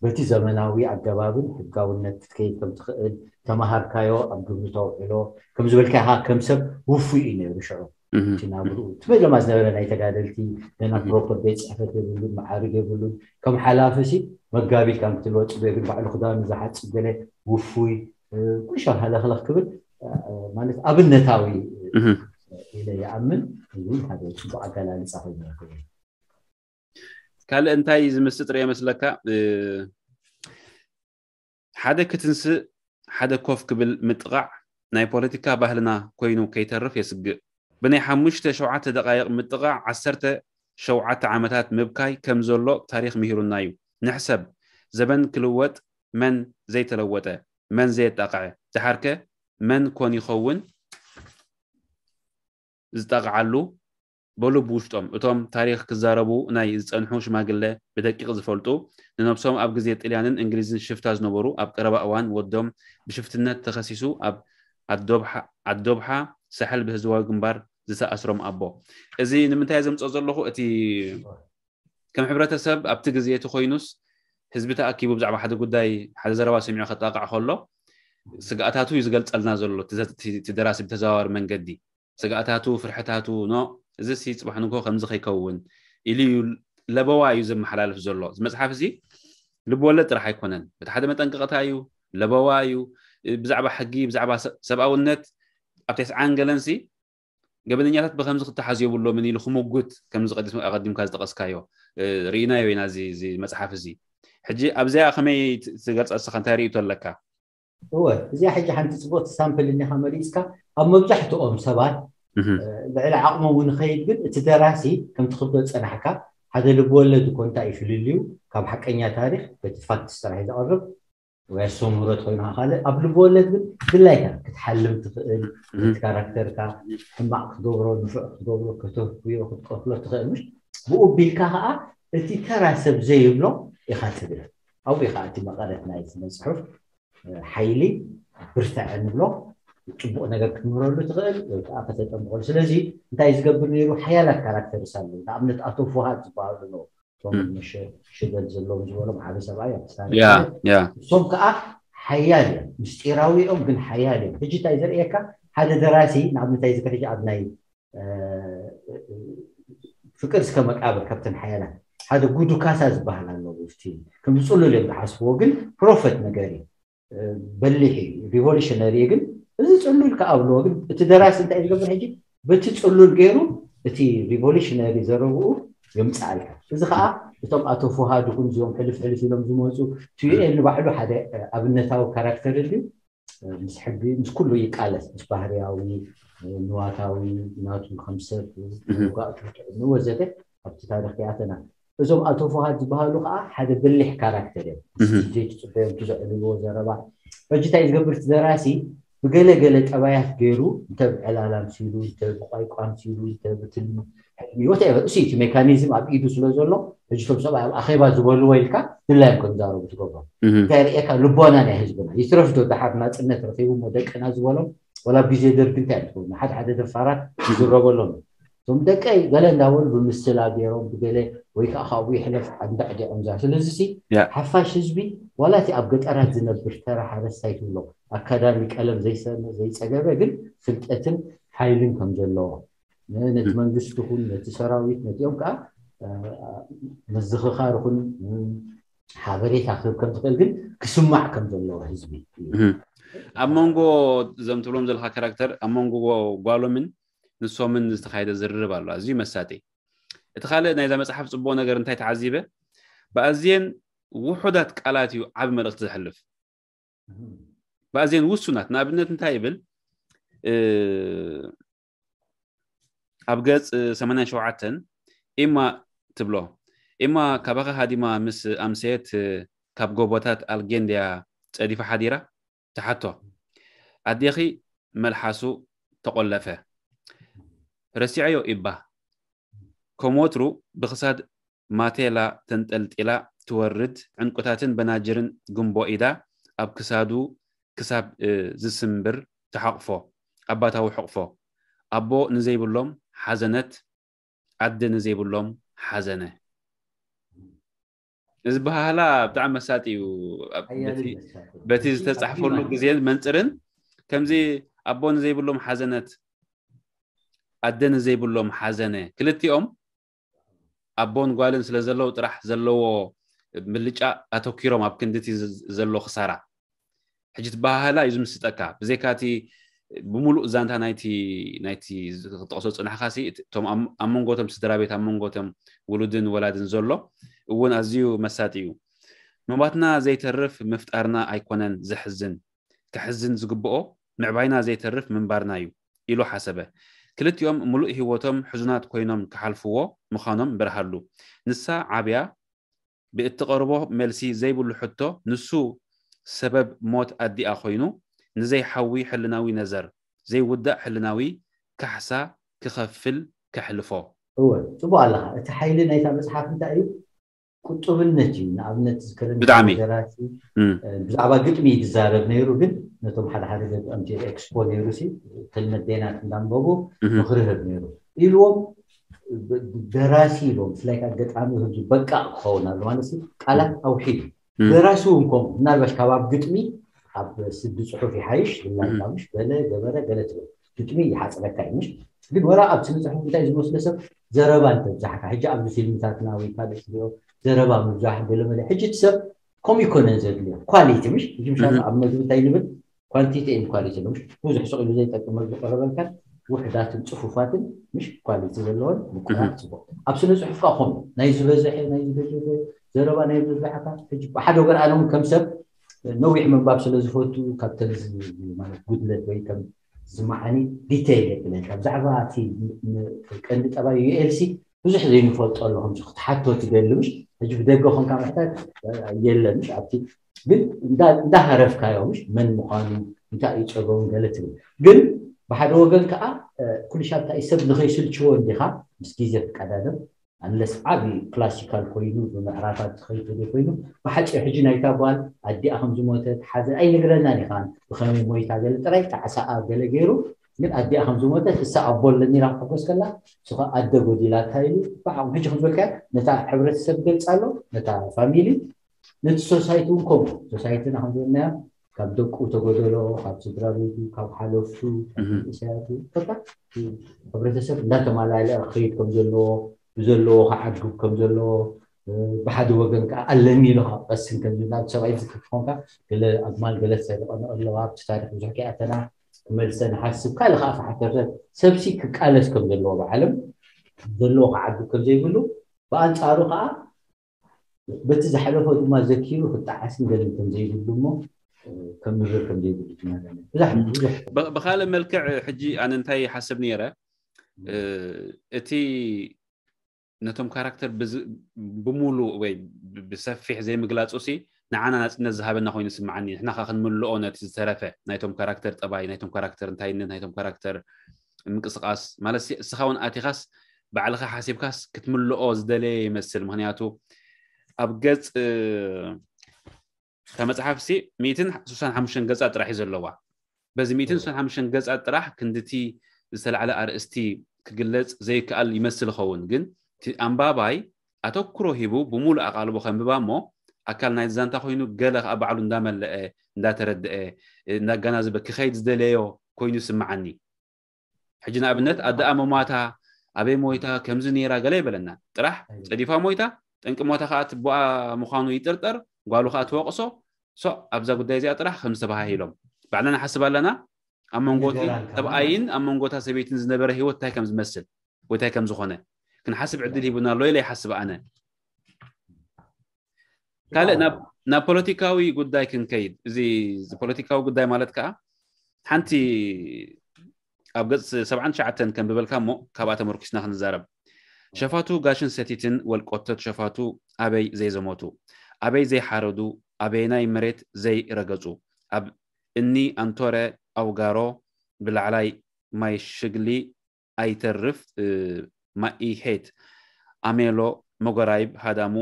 በቲ ዘመናዊ ኣገባብን ሕጋውነት ክትከይድ ከም ትኽእል ተማሃርካዮ ኣብ ግብሪ ተውዕሎ ከም ዝበልካ ኢኻ ከም ሰብ ውፉይ እዩ ነይሩ ሽዑ እቲ ናብርኡ እቲ በለማ ዝነበረ ናይ ተጋደልቲ ገና ፕሮፐር ቤት ፅሕፈት የብሉን መዓርግ የብሉን ከም ሓላፊ ሲ መጋቢት ካብ ክትልወ ፅበ ግን ባዕሉ ክዳኑ ዝሓፅብ ገለ ውፉይ ቁሻ ሃለኽለኽ ክብል ማለት ኣብነታዊ ኢለ ይኣምን እዚ ሓደ ፅቡቅ ኣገላልፃ ኮይኑ ይኸውን ካልእ እንታይ ዝምስጥ ርእ መስለካ ሓደ ክትንስእ ሓደ ኮፍ ክብል ምጥቓዕ ናይ ፖለቲካ ባህልና ኮይኑ ከይተርፍ የስግእ ብናይ ሓሙሽተ ሸውዓተ ደቃይቕ ምጥቓዕ ዓሰርተ ሸውዓተ ዓመታት ምብካይ ከም ዘሎ ታሪኽ ምሂሩና እዩ ንሕሰብ ዘበን ክልወጥ መን ዘይተለወጠ መን ዘየጣቕዐ ደሓርከ መን ኮን ይኸውን ዝጣቕዓሉ በሉ ብውሽጦም እቶም ታሪኽ ክዛረቡ ናይ ዝፀንሑ ሽማግለ ብደቂቕ ዝፈልጡ ንነብሶም ኣብ ግዜ ጥልያንን እንግሊዝን ሽፍታ ዝነበሩ ኣብ ቀረባ እዋን ወዶም ብሽፍትነት ተኸሲሱ ኣብ ኣዶብሓ ሳሕል ብህዝባዊ ግንባር ዝተኣስሮም ኣቦ እዚ ንምንታይ ዘምፅኦ ዘለኹ እቲ ከም ሕብረተሰብ ኣብቲ ግዜ እቲ ኮይኑስ ህዝቢ ተኣኪቡ ብዛዕባ ሓደ ጉዳይ ሓደ ዘረባ ሰሚዑ ከጣቕዕ ከሎ ስግኣታቱ እዩ ዝገልፀልና ዘሎ እቲ ደራሲ ብተዘዋዋሪ መንገዲ ስግኣታቱ ፍርሕታቱ ኖ እዚ ሲ ፅባሕ ንግሆ ከምዚ ከይከውን ኢሉ እዩ ለበዋ እዩ ዘመሓላልፍ ዘሎ እዚ መፅሓፍ እዚ ልብወለድ ጥራሕ ኣይኮነን በቲ ሓደ መጠንቀቕታ እዩ ለበዋ እዩ ብዛዕባ ሕጊ ብዛዕባ ሰብኣውነት ኣብ ተስዓን ገለንሲ ገበነኛታት ብከምዚ ክተሓዙ የብሎምን ኢሉ ክምጉት ከምዚ ቀዲምካ ዝጠቐስካዮ ርኢናዮ ኢና እዚ መፅሓፍ እዚ ሕጂ ኣብዚኣ ከመይ ትገልፃ እስኻ እንታይ ርእይቶ ኣለካ እወ እዚኣ ሕጂ ሓንቲ ፅቡቅቲ ሳምፕል እኒኻ መሪፅካ ኣብ መብዛሕትኦም ሰባት ልዕሊ ዓቕሞም ንኸይድ ግን እቲ ደራሲ ከምቲ ክብሎ ዝፀናሕካ ሓደ ልብወለድ እኮ እንታይ እዩ ፍልልዩ ካብ ሓቀኛ ታሪክ በቲ ፋክትስ ጥራሕ እዩ ዘቕርብ ወይ ኣስተምህሮት ኮይኑ ካልእ ኣብ ልብወለድ ግን ድላይካ ክትሓልም ትኽእል እቲ ካራክተርካ ሕማቕ ክትገብሮ ንፉዕ ክትገብሮ ከተፍዮ ክትቀትሎ ትኽእል ምሽ ብኡ ቢልካ ከዓ እቲ ተራ ሰብ ዘይብሎ ኢኻ ትብል ኣብኡ ኢኻ እቲ መቐረት ናይ ስነ ፅሑፍ ሓይሊ ብርትዐ ንብሎ ፅቡቕ ነገር ክትምህረሉ ትኽእል ወይ ከዓ ከተጠምቐሉ ስለዚ እንታይ ዝገብር ነይሩ ሓያላት ካራክተርስ ኣለዉ ንኣብነት ኣቶ ፍሃድ ዝበሃሉ ኣለዉ እቶም ሽደል ዘለዎም ዝበሎም ዓበ ሰብኣይ ኣብ እሶም ከዓ ሓያል እዮም ምስጢራዊ እዮም ግን ሓያል እዮም ሕጂ እንታይ ዘርእየካ ሓደ ደራሲ ንኣብነት እዚ ሕጂ ኣብ ናይ ፍቅር እስከ መቃብር ካብተን ሓያላት ሓደ ጉዱ ካሳ ዝበሃል ኣለዎ ፊልም ከም ዝፅሉል እዮም ዝሓስብዎ ግን ፕሮፈት ነገር እዩ በሊሕ እዩ ሪቮሉሽነሪ ግን እዚ ፅሉል ከኣብልዎ ግን እቲ ደራሲ እንታይ ዝገብር ሕጂ በቲ ፅሉል ገይሩ እቲ ሪቮሉሽነሪ ዘረብኡ የምፅኣልካ እዚ ከዓ እቶም ኣቶ ፍሃድ ይኹን እዚኦም ሕልፍ ሕልፍ ኢሎም ዝመፁ ቱኤል ንባዕሉ ሓደ ኣብነታዊ ካራክተር ድዩ ምስ ሕጊ ምስ ኩሉ ይቃለስ ምስ ባህርያዊ ንዋታዊ ናቱ ከም ሰብ ውጋእ ትርትዕኒ ወዘተ ኣብቲ ታሪኽ ይኣተና። እዞም ኣቶ ፍሃድ ዝበሃሉ ከዓ ሓደ በሊሕ ካራክተር እዮም። ምስቲ ዘይትፅበዮም እቲ ዘዕልልዎ ዘረባ፣ ሕጂ እንታይ ዝገብር እቲ ደራሲ፣ ብገለገለ ጠባያት ገይሩ፣ እንተ ብዕላላ ምሲሉ፣ እንተ ብቋይቋ ምሲሉ፣ እንተ ብትልሚ ሕልሚ ወተኤቨር፣ እሱ እቲ ሜካኒዝም ኣብ ኢዱ ስለ ዘሎ፣ ሕጂ እቶም ሰብኣይ ኣብ ኣኼባ ዝበልዎ ኢልካ ድላዮም ከም ዛረቡ ትገብሮም። እንታይ ርእየካ፣ ልቦና ናይ ህዝብና ይትረፍ ዶ፣ ደሓር ናፅነት ረኺቡ እሞ ደቅና ዝበሎም፣ ወላ ኣብ ግዜ ደርጊ እንታይ ትኸውን፣ ሓደ ሓደ ደፋራት ይዝረበሎም እዮም። እቶም ደቀይ ገለ እንዳበሉ ብምስላ ገይሮም ብገለ ወይ ከዓ ካብኡ ይሕለፍ እንዳዕዲዖም ዛ ስለዚ ሲ ሓፋሽ ህዝቢ ዋላ እቲ ኣብ ገጠራት ዝነብር ተራ ሓረስታይ ትብሎ ኣካዳሚ ቀለም ዘይሰመ ዘይፀገበ ግን ፍልጠትን ሓይልን ከም ዘለዎ ነቲ መንግስቲ ኹን ነቲ ሰራዊት ነቲኦም ከዓ ምዝኽኻር ኹን ሓበሬታ ክህብ ከም ዝኽእል ግን ክስማዕ ከም ዘለዎ ህዝቢ ኣብ መንጎ እዞም ትብሎም ዘለካ ካራክተር ኣብ መንጎ ጓሎምን ንሶምን ዝተካየደ ዝርርብ ኣሎ ኣዝዩ መሳጢ እቲ ካልእ ናይዛ መፅሓፍ ፅቡቅ ነገር እንታይ ተዓዚበ ብኣዝየን ውሑዳት ቃላት እዩ ዓብ መልእክቲ ዘሕልፍ ብኣዝየን ውሱናት ንኣብነት እንታይ ይብል ኣብ ገጽ ሰማንያን ሸውዓተን ኢማ ትብሎ ኢማ ካባኻ ሃዲማ ምስ ኣምሰየት ካብ ጎቦታት ኣልጌንድያ ጸዲፋ ሓዲራ ትሓቶ ኣዴኺ መልሓሱ ተቆለፈ ረሲዐዮ ኢባ ከም ወትሩ ብኽሳድ ማቴላ ተንጠልጢላ ትወርድ ዕንቁታትን በናጅርን ግንቦ ኢዳ ኣብ ክሳዱ ክሳብ ዝስምብር ትሓቕፎ ኣባታዊ ሕቕፎ ኣቦ ንዘይብሎም ሓዘነት ኣደ ንዘይብሎም ሓዘነ እዚ በሃህላ ብጣዕሚ መሳጢ እዩ በቲ ዝተፃሕፈሉ ግዜን መንፅርን ከምዚ ኣቦ ንዘይብሎም ሓዘነት ኣደ ንዘይብሎም ሓዘነ ክልቲኦም ኣቦን ጓልን ስለ ዘለዉ ጥራሕ ዘለዎ ምልጫ ኣተኪሮም ኣብ ክንድቲ ዘሎ ክሳራ ሕጂ ትበሃህላ እዩ ዝምስጠካ ብዘይካቲ ብምሉእ ዛንታ ናይቲ ናይቲ ክጠቕሶ ፅናሕካ ሲ እቶም ኣብ መንጎቶም ስድራ ቤት ኣብ መንጎቶም ውሉድን ወላድን ዘሎ እውን ኣዝዩ መሳጢ እዩ መማትና ዘይተርፍ ምፍጣርና ኣይኮነን ዘሕዝን ከሕዝን ዝግብኦ ምዕባይና ዘይተርፍ ምንባርና እዩ ኢሉ ሓሰበ ክልቲኦም ምሉእ ህይወቶም ሕዙናት ኮይኖም ክሓልፍዎ ምዃኖም በርሃሉ ንሳ ዓብያ ብእትቐርቦ መልሲ ዘይብሉ ሕቶ ንሱ ሰበብ ሞት ኣዲኣ ኮይኑ ንዘይሓዊ ሕልናዊ ነዘር ዘይውዳእ ሕልናዊ ካሕሳ ክኸፍል ከሕልፎ እወ ፅቡቅ ኣለካ እቲ ሓይሊ ናይታ መፅሓፍ እንታይ እዩ ቁጡብነት እዩ ንኣብነት ዝከለኒ ብጣዕሚ ደራሲ ብዛዕባ ግጥሚ ይዛረብ ነይሩ ግን ነቶም ሓደ ሓደ ገጠምቲ ኤክስፖ ነይሩ ሲ ክልመት ዴናት እንዳንበቡ ምኽሪ ህብ ነይሩ ኢልዎም ደራሲ ኢልዎም ብፍላይ ከዓ ገጣሚ ህዝቢ በቃ ክኸውን ኣሎ ማለት ቃላት ኣውሒዱ ደራሲ እውን ከምኡ ምናልባሽ ካብ ኣብ ግጥሚ ኣብ ስዲ ፅሑፍ ይሓይሽ ብላይሽ በለ ገበረ ገለ ትብል ግጥሚ ይሓፅረካ እዩ ምሽ ግን ወላ ኣብ ስነ ፅሑፍ እንታይ ዝመስሎ ሰብ ዘረባ እንተብዛሕካ ሕጂ ኣብዚ ፊልምታትና ወይ ካልእ ትሪኦ ዘረባ ምብዛሕ ገለመለ ሕጂ እቲ ሰብ ከምኡ ይኮነን ዘድልዮ ኳሊቲ ምሽ ሕጂ ምሻ ኣብ መግቢ እንታይ ንብል ኳንቲቲ ን ኳሊቲ ነው ብዙሕ ስቕ ኢሉ ዘይጠቅም መግቢ ቀረበልካን ውሕዳትን ፅፉፋትን ምሽ ኳሊቲ ዘለዎን ምቁራት ፅቡቅ ኣብ ስነ ፅሑፍካ ከምኡ ናይ ዝበዝሐ ናይ ዝበዘዘ ዘረባ ናይ ዝበዝሐካ ሕጂ ብሓደ ወገን ኣነ እውን ከም ሰብ ነዊሕ ምንባብ ስለ ዝፈቱ ካብ ተዚ ማለት ጉድለት ወይ ከም ዝመዓኒ ዲተይል የብለካ ብዛዕባ እቲ ቀንዲ ጠባይ ዩኤልሲ ብዙሕ ዘይንፈልጦ ኣሎ ከምዚ ክትሓቶ ትደሊ ምሽ ሕጂ ብደገ ኮንካ ምሕታት የለ ምሽ ኣብቲ ግን እንዳሃረፍካዮ ምሽ መን ምዃኑ እንታይ እዩ ፀገሙ ገለ ትብል ግን ብሓደ ወገን ከዓ ኩልሻብ እንታይ ሰብ ንኸይስልችዎ እንዲኻ ምስ ግዜ ትቀዳደም ኣንለስ ዓቢ ክላሲካል ኮይኑ ብምዕራፋት ዝኸይድ ተዘይ ኮይኑ ብሓፂር ሕጂ ናይታ ጓል ኣዲኣ ከም ዝሞተት ሓዘን ኣይነግረናን ኢኻን ብኸመይ ሞይታ ገለ ጥራይ ጣዕሳኣ ገለ ገይሩ ግን ኣዲኣ ከም ዝሞተት እሳ ኣቦ ኣለኒ ኢላ ክትሕጎስ ከላ እሱ ከዓ ኣደ ጎዲላታ ኢሉ ብዓቕሙ ሕጂ ከም ዝበልካዮ ነታ ሕብረተሰብ ይገልፃ ኣሎ ነታ ፋሚሊ ነቲ ሶሳይቲ እውን ከምኡ ሶሳይትና ከም ዝበልናዮ ካብ ደቁ ተጎደሎ ካብ ስድራ ቤቱ ካብ ሓለፍቱ ካብ መንእሰያቱ በቃ እቲ ሕብረተሰብ እንዳተማላለአ ክኸይድ ከም ዘለዎ ብዘለዎ ክዓግብ ከም ዘለዎ ብሓደ ወገን ከዓ ኣለኒ ኢሉ ክቐስን ከም ዝብል ሰብኣይ ዝክር ክኾንካ ገለ ኣግማል ገለ ዝሰሪቐ ኣለዋ ኣብቲ ታሪክ ብዙሕ ከይኣተና ክመልሰ ንሓስብ ካልእ ከዓ ክሓተተ ሰብሲ ክቃለስ ከም ዘለዎ ብዓለም ዘለዎ ክዓግብ ከም ዘይብሉ ብኣንፃሩ ከዓ በቲ ዝሓለፎ ድማ ዘኪሩ ክጠዓስን ገለን ከም ዘይብሉ እሞ ከምርር ከም ዘይብሉ ትናገር ብዙሕ ብዙሕ ብካልእ መልክዕ ሕጂ ኣነ እንታይ ይሓስብ ነይረ እቲ ነቶም ካራክተር ብዝ- ብሙሉእ ወይ ብ- ብሰፊሕ ዘይምግላፁ ሲ ንዓና ናፅነት ዝሃበና ኮይኑ ይስምዓኒ። ንሕና ከ ክንምልኦ ነቲ ዝተረፈ ናይቶም ካራክተር ጠባይ፣ ናይቶም ካራክተር እንታይነት፣ ናይቶም ካራክተር ምንቅስቃስ ማለት ሲ እስኻ እውን ኣቲኻስ ባዕልኻ ሓሲብካስ ክትምልኦ ዝደለየ ይመስል። ምክንያቱ ኣብ ገፅ እታ መፅሓፍ ሲ ሚእትን ስሳን ሓሙሽተን ገፃት ጥራሕ እዩ ዘለዋ። በዚ ሚእትን ስሳን ሓሙሽተን ገፃት ጥራሕ ክንድቲ ዝተላዕለ ኣርእስቲ ክግለፅ ዘይከኣል ይመስል ይኸውን፣ ግን እቲ ኣንባባይ ኣተኩሮ ሂቡ ብሙሉእ ኣቓልቦ ከንብባ እሞ ኣካል ናይ ዛንታ ኮይኑ ገለ ከዓ ባዕሉ እንዳመለአ እንዳተረድአ እንዳገናዘበ ክኸይድ ዝደለዮ ኮይኑ ይስምዓኒ። ሕጂ ንኣብነት ኣደኣ መማታ ኣበይ ሞይታ ከምዚ ነይራ ገለ ይበለና ጥራሕ ጸዲፋ ሞይታ ጠንቂ ሞታ ከዓ ትቦኣ ምዃኑ ይጥርጠር ጓሉ ከዓ ትወቕሶ። ሶ ኣብዛ ጉዳይ እዚኣ ጥራሕ ከም ዝተባሃሂሎም ባዕልና ንሓስብ ኣለና። ኣብ መንጎቲ ሰብኣይን ኣብ መንጎታ ሰበይትን ዝነበረ ህይወት እንታይ ከም ዝመስል ወይ እንታይ ከም ዝኾነ ክንሓስብ ዕድል ሂቡና ኣሎ ኢለ ይሓስብ ኣነ። ካልእ ናብ ፖለቲካዊ ጉዳይ ክንከይድ፣ እዚ ፖለቲካዊ ጉዳይ ማለት ከዓ ሓንቲ ኣብ ገፅ ሰብዓን ትሽዓተን ከንብበልካ እሞ ካብኣ ተመርኪስና ክንዛረብ። ሸፋቱ ጋሽን ሰቲትን ወልቆቶት ሸፋቱ ኣበይ ዘይዘመቱ፣ ኣበይ ዘይሓረዱ፣ ኣበየናይ መሬት ዘይረገፁ፣ ኣብ እኒ ኣንቶረ ኣውጋሮ ብላዕላይ ማይ ሽግሊ ኣይተርፍ ማኢሄት ኣሜሎ መጎራይብ ሃዳሙ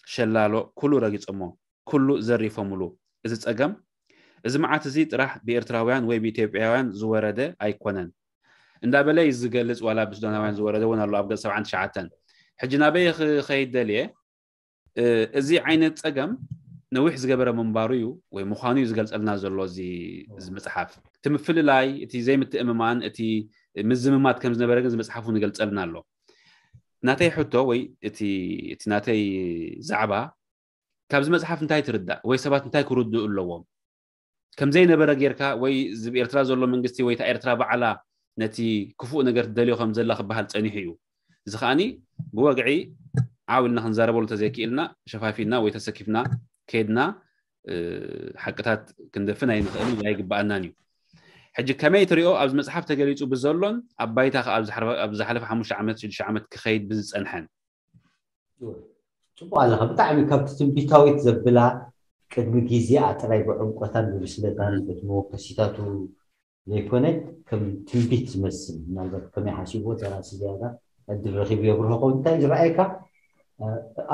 ሸላሎ ኩሉ ረጊጾሞ ኩሉ ዘሪፎምሉ። እዚ ጸገም እዚ መዓት እዚ ጥራሕ ብኤርትራውያን ወይ ብኢትዮጵያውያን ዝወረደ ኣይኮነን እንዳበለ እዩ ዝገልጽ። ዋላ ብሱዳናውያን ዝወረደ እውን ኣሎ ኣብ ገጽ ሰብዓን ትሽዓተን። ሕጂ ናበይ ክኸይድ ደልየ? እዚ ዓይነት ጸገም ነዊሕ ዝገበረ ምንባሩ እዩ ወይ ምዃኑ እዩ ዝገልጸልና ዘሎ እዚ መጽሓፍ። እቲ ምፍልላይ፣ እቲ ዘይምትእምማን፣ እቲ ምዝምማት ከም ዝነበረ ግን እዚ መጽሓፍ እውን ይገልጸልና ኣሎ። ናተይ ሕቶ ወይ እቲ ናተይ ዛዕባ ካብዚ መጽሓፍ እንታይ ትርዳእ ወይ ሰባት እንታይ ክርድኡ ኣለዎም? ከም ዘይነበረ ጌርካ ወይ እዚ ኤርትራ ዘሎ መንግስቲ ወይ እታ ኤርትራ ባዕላ ነቲ ክፉእ ነገር ትደልዮ ከም ዘላ ክበሃል ጸኒሑ እዩ። እዚ ከኣኒ ብወግዒ ዓው ኢልና ክንዛረበሉ ተዘይክኢልና ሸፋፊና ወይ ተሰኪፍና ከይድና ሓቅታት ክንደፍን ኣይንኽእልን ኣይግበኣናን እዩ። ሕጂ ከመይ ትሪኦ ኣብዚ መጽሓፍ ተገሊጹ ብዘሎን ኣብ ባይታ ከኣ ኣብ ዝሓለፈ ሓሙሽተ ዓመት ሽዱሽተ ዓመት ክኸይድ ብዝጸንሐን? ጽቡቅ ኣለኻ። ብጣዕሚ ካብቲ ትንቢታዊት ዘብላ ቅድሚ ግዜኣ ጥራይ ብዕምቆታን ብብስለታን በቲ መወከሲታቱ ዘይኮነ ከም ትንቢት ዝመስል ምናልባት ከመይ ሓሲብዎ ተራሲ ዝያዳ ዕድል ረኺቡ የብርሆ ከውን እንታይ ዝረኣየካ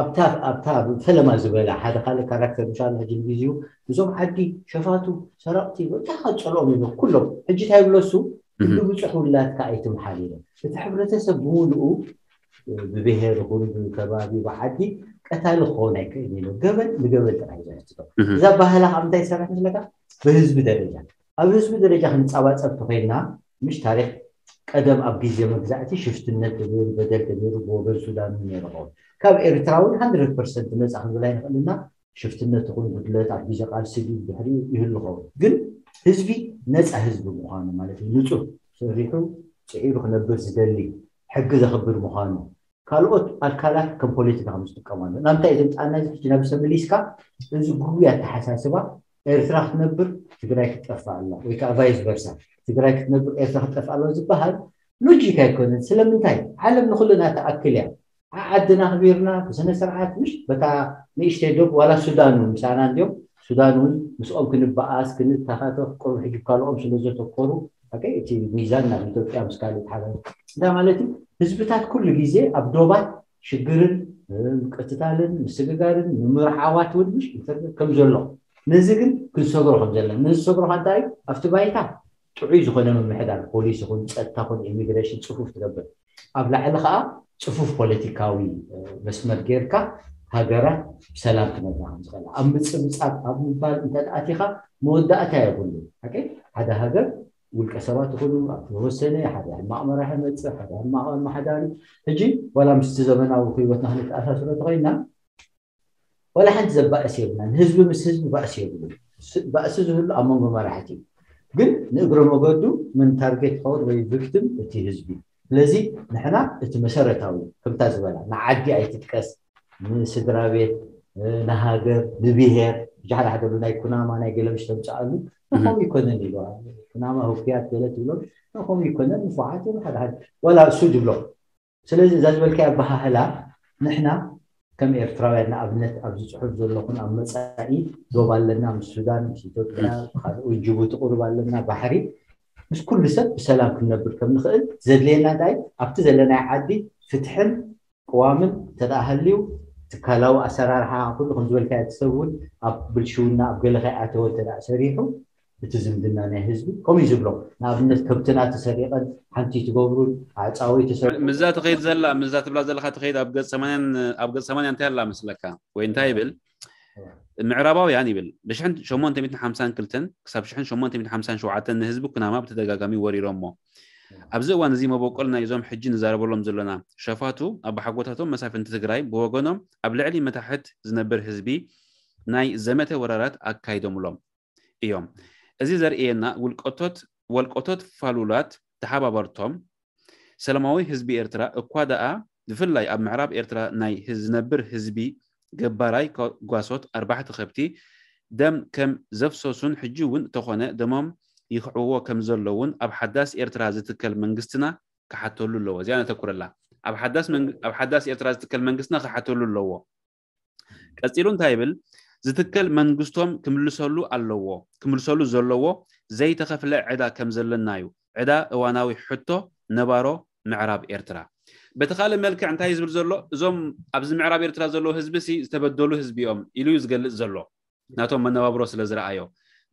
ኣብታ ኣብታ ፈለማ ዝበላ ሓደ ካልእ ካራክተር ምሻ ሕጂ ንግዜኡ እዞም ዓዲ ሸፋቱ ሰረቕቲ እንታይ ካፀልኦም ይብሎ ኩሎም ሕጂ እንታይ ይብሎ እሱ ክንዲ ብፁሕ ውላድካ ኣይትምሓል ኢለ እቲ ሕብረተሰብ ብምሉኡ ብብሄር ይኹን ብከባቢ ብዓዲ ቀታሊ ክኸውን ኣይክእል ኢሉ ገበን ንገበን ጥራሕ እዩ ዘሕትቶ እዛ ባህላ ካብ እንታይ ዝሰርሕ ምስለካ ብህዝቢ ደረጃ ኣብ ህዝቢ ደረጃ ክንፃባፀብ ተኮይንና ምሽ ታሪክ ቀደም ኣብ ግዜ መግዛእቲ ሽፍትነት ተገይሩ በደል ተገይሩ ብወገን ሱዳን እውን ነይሩ ኸውን ካብ ኤርትራ እውን 100 ፐርሰንት ነፃ ክንብል ኣይንኽእልና ሽፍትነት ይኹን ጉድለት ኣብ ግዜ ቃልሲ ድዩ ድሕሪኡ ይህሉ ኸውን ግን ህዝቢ ነፃ ህዝቢ ምዃኑ ማለት እዩ ንፁህ ሰሪሑ ፅዒሩ ክነብር ዝደሊ ሕጊ ዘኽብር ምዃኑ ካልኦት ኣካላት ከም ፖለቲካ ከም ዝጥቀማሉ ናምታይ እዞም ፃና እዚ ሕጂ ናብ ሰምሊስካ እዚ ጉጉይ ኣተሓሳስባ ኤርትራ ክትነብር ትግራይ ክትጠፋ ኣላ ወይ ከዓ ቫይስ ቨርሳ ትግራይ ክትነብር ኤርትራ ክትጠፋ ኣላ ዝበሃል ሎጂክ ኣይኮነን ስለምንታይ ዓለም ንኩልና ትኣክል እያ ዓዓድና ኣኽቢርና ብስነ ስርዓት ምሽ በታ ንእሽተይ ዶብ ዋላ ሱዳን እውን ምሳና እንዲዮም ሱዳን እውን ምስኦም ክንበኣስ ክንተኻተፍ ቁሩብ ሕጂ ካልኦም ስለ ዘተኮሩ ሓቀይ እቲ ሚዛን ናብ ኢትዮጵያ ምስ ካልእ ተሓዛ እንታይ ማለት እዩ ህዝብታት ኩሉ ግዜ ኣብ ዶባት ሽግርን ምቅትታልን ምስግጋርን ምምርዓዋት እውን ምሽ ኢንተርኔት ከም ዘሎ ነዚ ግን ክንሰግሮ ከም ዘለና ነዚ ዝሰግሮ እንታይ ኣብቲ ባይታ ጥዑይ ዝኾነ ምምሕዳር ፖሊስ ይኹን ፀጥታ ኹን ኢሚግሬሽን ፅፉፍ ትገብር ኣብ ላዕሊ ከዓ ፅፉፍ ፖለቲካዊ መስመር ጌርካ ሃገራት ብሰላም ክነብራ ከም ዝኽእላ ኣብ ምፅብፃብ ኣብ ምባል እንተኣቲኻ መወዳእታ የብሉ ሓደ ሃገር ውልቀ ሰባት ይኹኑ ኣብ ተወሰነ ሓደ ሕማቕ መራሒ መፅእ ሓደ ሕማቕ ኣመሓዳሪ ሕጂ ዋላ ምስቲ ዘመናዊ ህይወትና ክንተኣሳስሮ ተኸይና ዋላ ሓንቲ ዘባእስ የብልና ንህዝቢ ምስ ህዝቢ ባእሲ የብሉ ባእሲ ዝህሉ ኣብ መንጎ መራሕቲ እዩ ግን ንእግረ መገዱ መን ታርጌት ክኸውን ወይ ቪክቲም እቲ ህዝቢ ስለዚ ንሕና እቲ መሰረታዊ ከምታ ዝበላ ንዓዲ ኣይትጥቀስ ንስድራ ቤት ንሃገር ንብሄር ብጃሕዳ ሓደ ናይ ኩናማ ናይ ገለምሽ ተምፅኣሉ ንኸም ይኮነን ኢሉ ኩናማ ህኩያት ገለ ትብሎም ንኸም ይኮነን ንፉዓት እዮም ሓደ ሓደ ወላ እሱ ድብሎ ስለዚ እዛ ዝበልካዮ ኣበሃህላ ንሕና ከም ኤርትራውያን ንኣብነት ኣብዚ ጽሑፍ ዘለኹን ኣብ መጻኢ ዶብ ኣለና፣ ምስ ሱዳን፣ ምስ ኢትዮጵያ፣ ካልእ ጅቡቲ ቁሩብ ኣለና፣ ባሕሪ፣ ምስ ኩሉ ሰብ ብሰላም ክንነብር ከም ንኽእል ዘድልየና እንታይ ኣብቲ ዘለናይ ዓዲ ፍትሕን ቅዋምን እንተ ደኣ ሃልዩ ትካላዊ ኣሰራርሓ ኩሉ ከም ዝበልካዮ እቲ ሰብ እውን ኣብ ብልሽውና ኣብ ገለ ከይኣተወ እንተ ደኣ ሰሪሑ እቲ ዝምድና ናይ ህዝቢ ከምኡ እዩ ዝብሎ። ንኣብነት ከብትና ተሰሪቐን ሓንቲ ትገብሩን ኣዕፃወይ ተሰሪቑ ምዛ ትኸይድ ዘላ ምዛ ትብላ ዘለካ ትኸይድ ኣብ ገጽ ሰማንያን ኣብ ገጽ ሰማንያ እንታይ ኣላ መስለካ ወይ እንታይ ይብል ምዕራባውያን ይብል ብሽሕን ሸሞንተ ሚእትን ሓምሳን ክልተን ክሳብ ሽሕን ሸሞንተ ሚእትን ሓምሳን ሸውዓተን ንህዝቢ ኩናማ ብተደጋጋሚ ወሪሮሞ ኣብዚ እዋን እዚ መበቆል ናይ እዞም ሕጂ ንዛረበሎም ዘለና ሸፋቱ ኣባሓጎታቶም መሳፍንቲ ትግራይ ብወገኖም ኣብ ልዕሊ መታሕት ዝነብር ህዝቢ ናይ ዘመተ ወራራት ኣካይዶምሎም እዮም። እዚ ዘርእየና ውልቀቶት ወልቀቶት ፋሉላት ተሓባበርቶም ሰላማዊ ህዝቢ ኤርትራ እኳ ደኣ ብፍላይ ኣብ ምዕራብ ኤርትራ ናይ ዝነብር ህዝቢ ገባራይ ጓሶት ኣርባሕቲ ከብቲ ደም ከም ዘፍሰሱን ሕጂ እውን ተኾነ ደሞም ይኽዕዎ ከም ዘለውን ኣብ ሓዳስ ኤርትራ ዝትከል መንግስትና ክሓተሉ ኣለዎ። እዚኣ ነተኩረላ። ኣብ ሓዳስ መንግ- ኣብ ሓዳስ ኤርትራ ዝትከል መንግስትና ክሓተሉ ኣለዎ። ቀጺሉ እንታይ ይብል? ዝትከል መንግስቶም ክምልሰሉ ኣለዎ። ክምልሰሉ ዘለዎ ዘይተኸፍለ ዕዳ ከም ዘለና እዩ። ዕዳ እዋናዊ ሕቶ ነባሮ ምዕራብ ኤርትራ። በቲ ካልእ መልክዕ እንታይ እዩ ዝብል ዘሎ? እዞም ኣብዚ ምዕራብ ኤርትራ ዘለዉ ህዝቢ ሲ ዝተበደሉ ህዝቢ እዮም ኢሉ እዩ ዝገልጽ ዘሎ። ናቶም መነባብሮ ስለ ዝረኣዮ።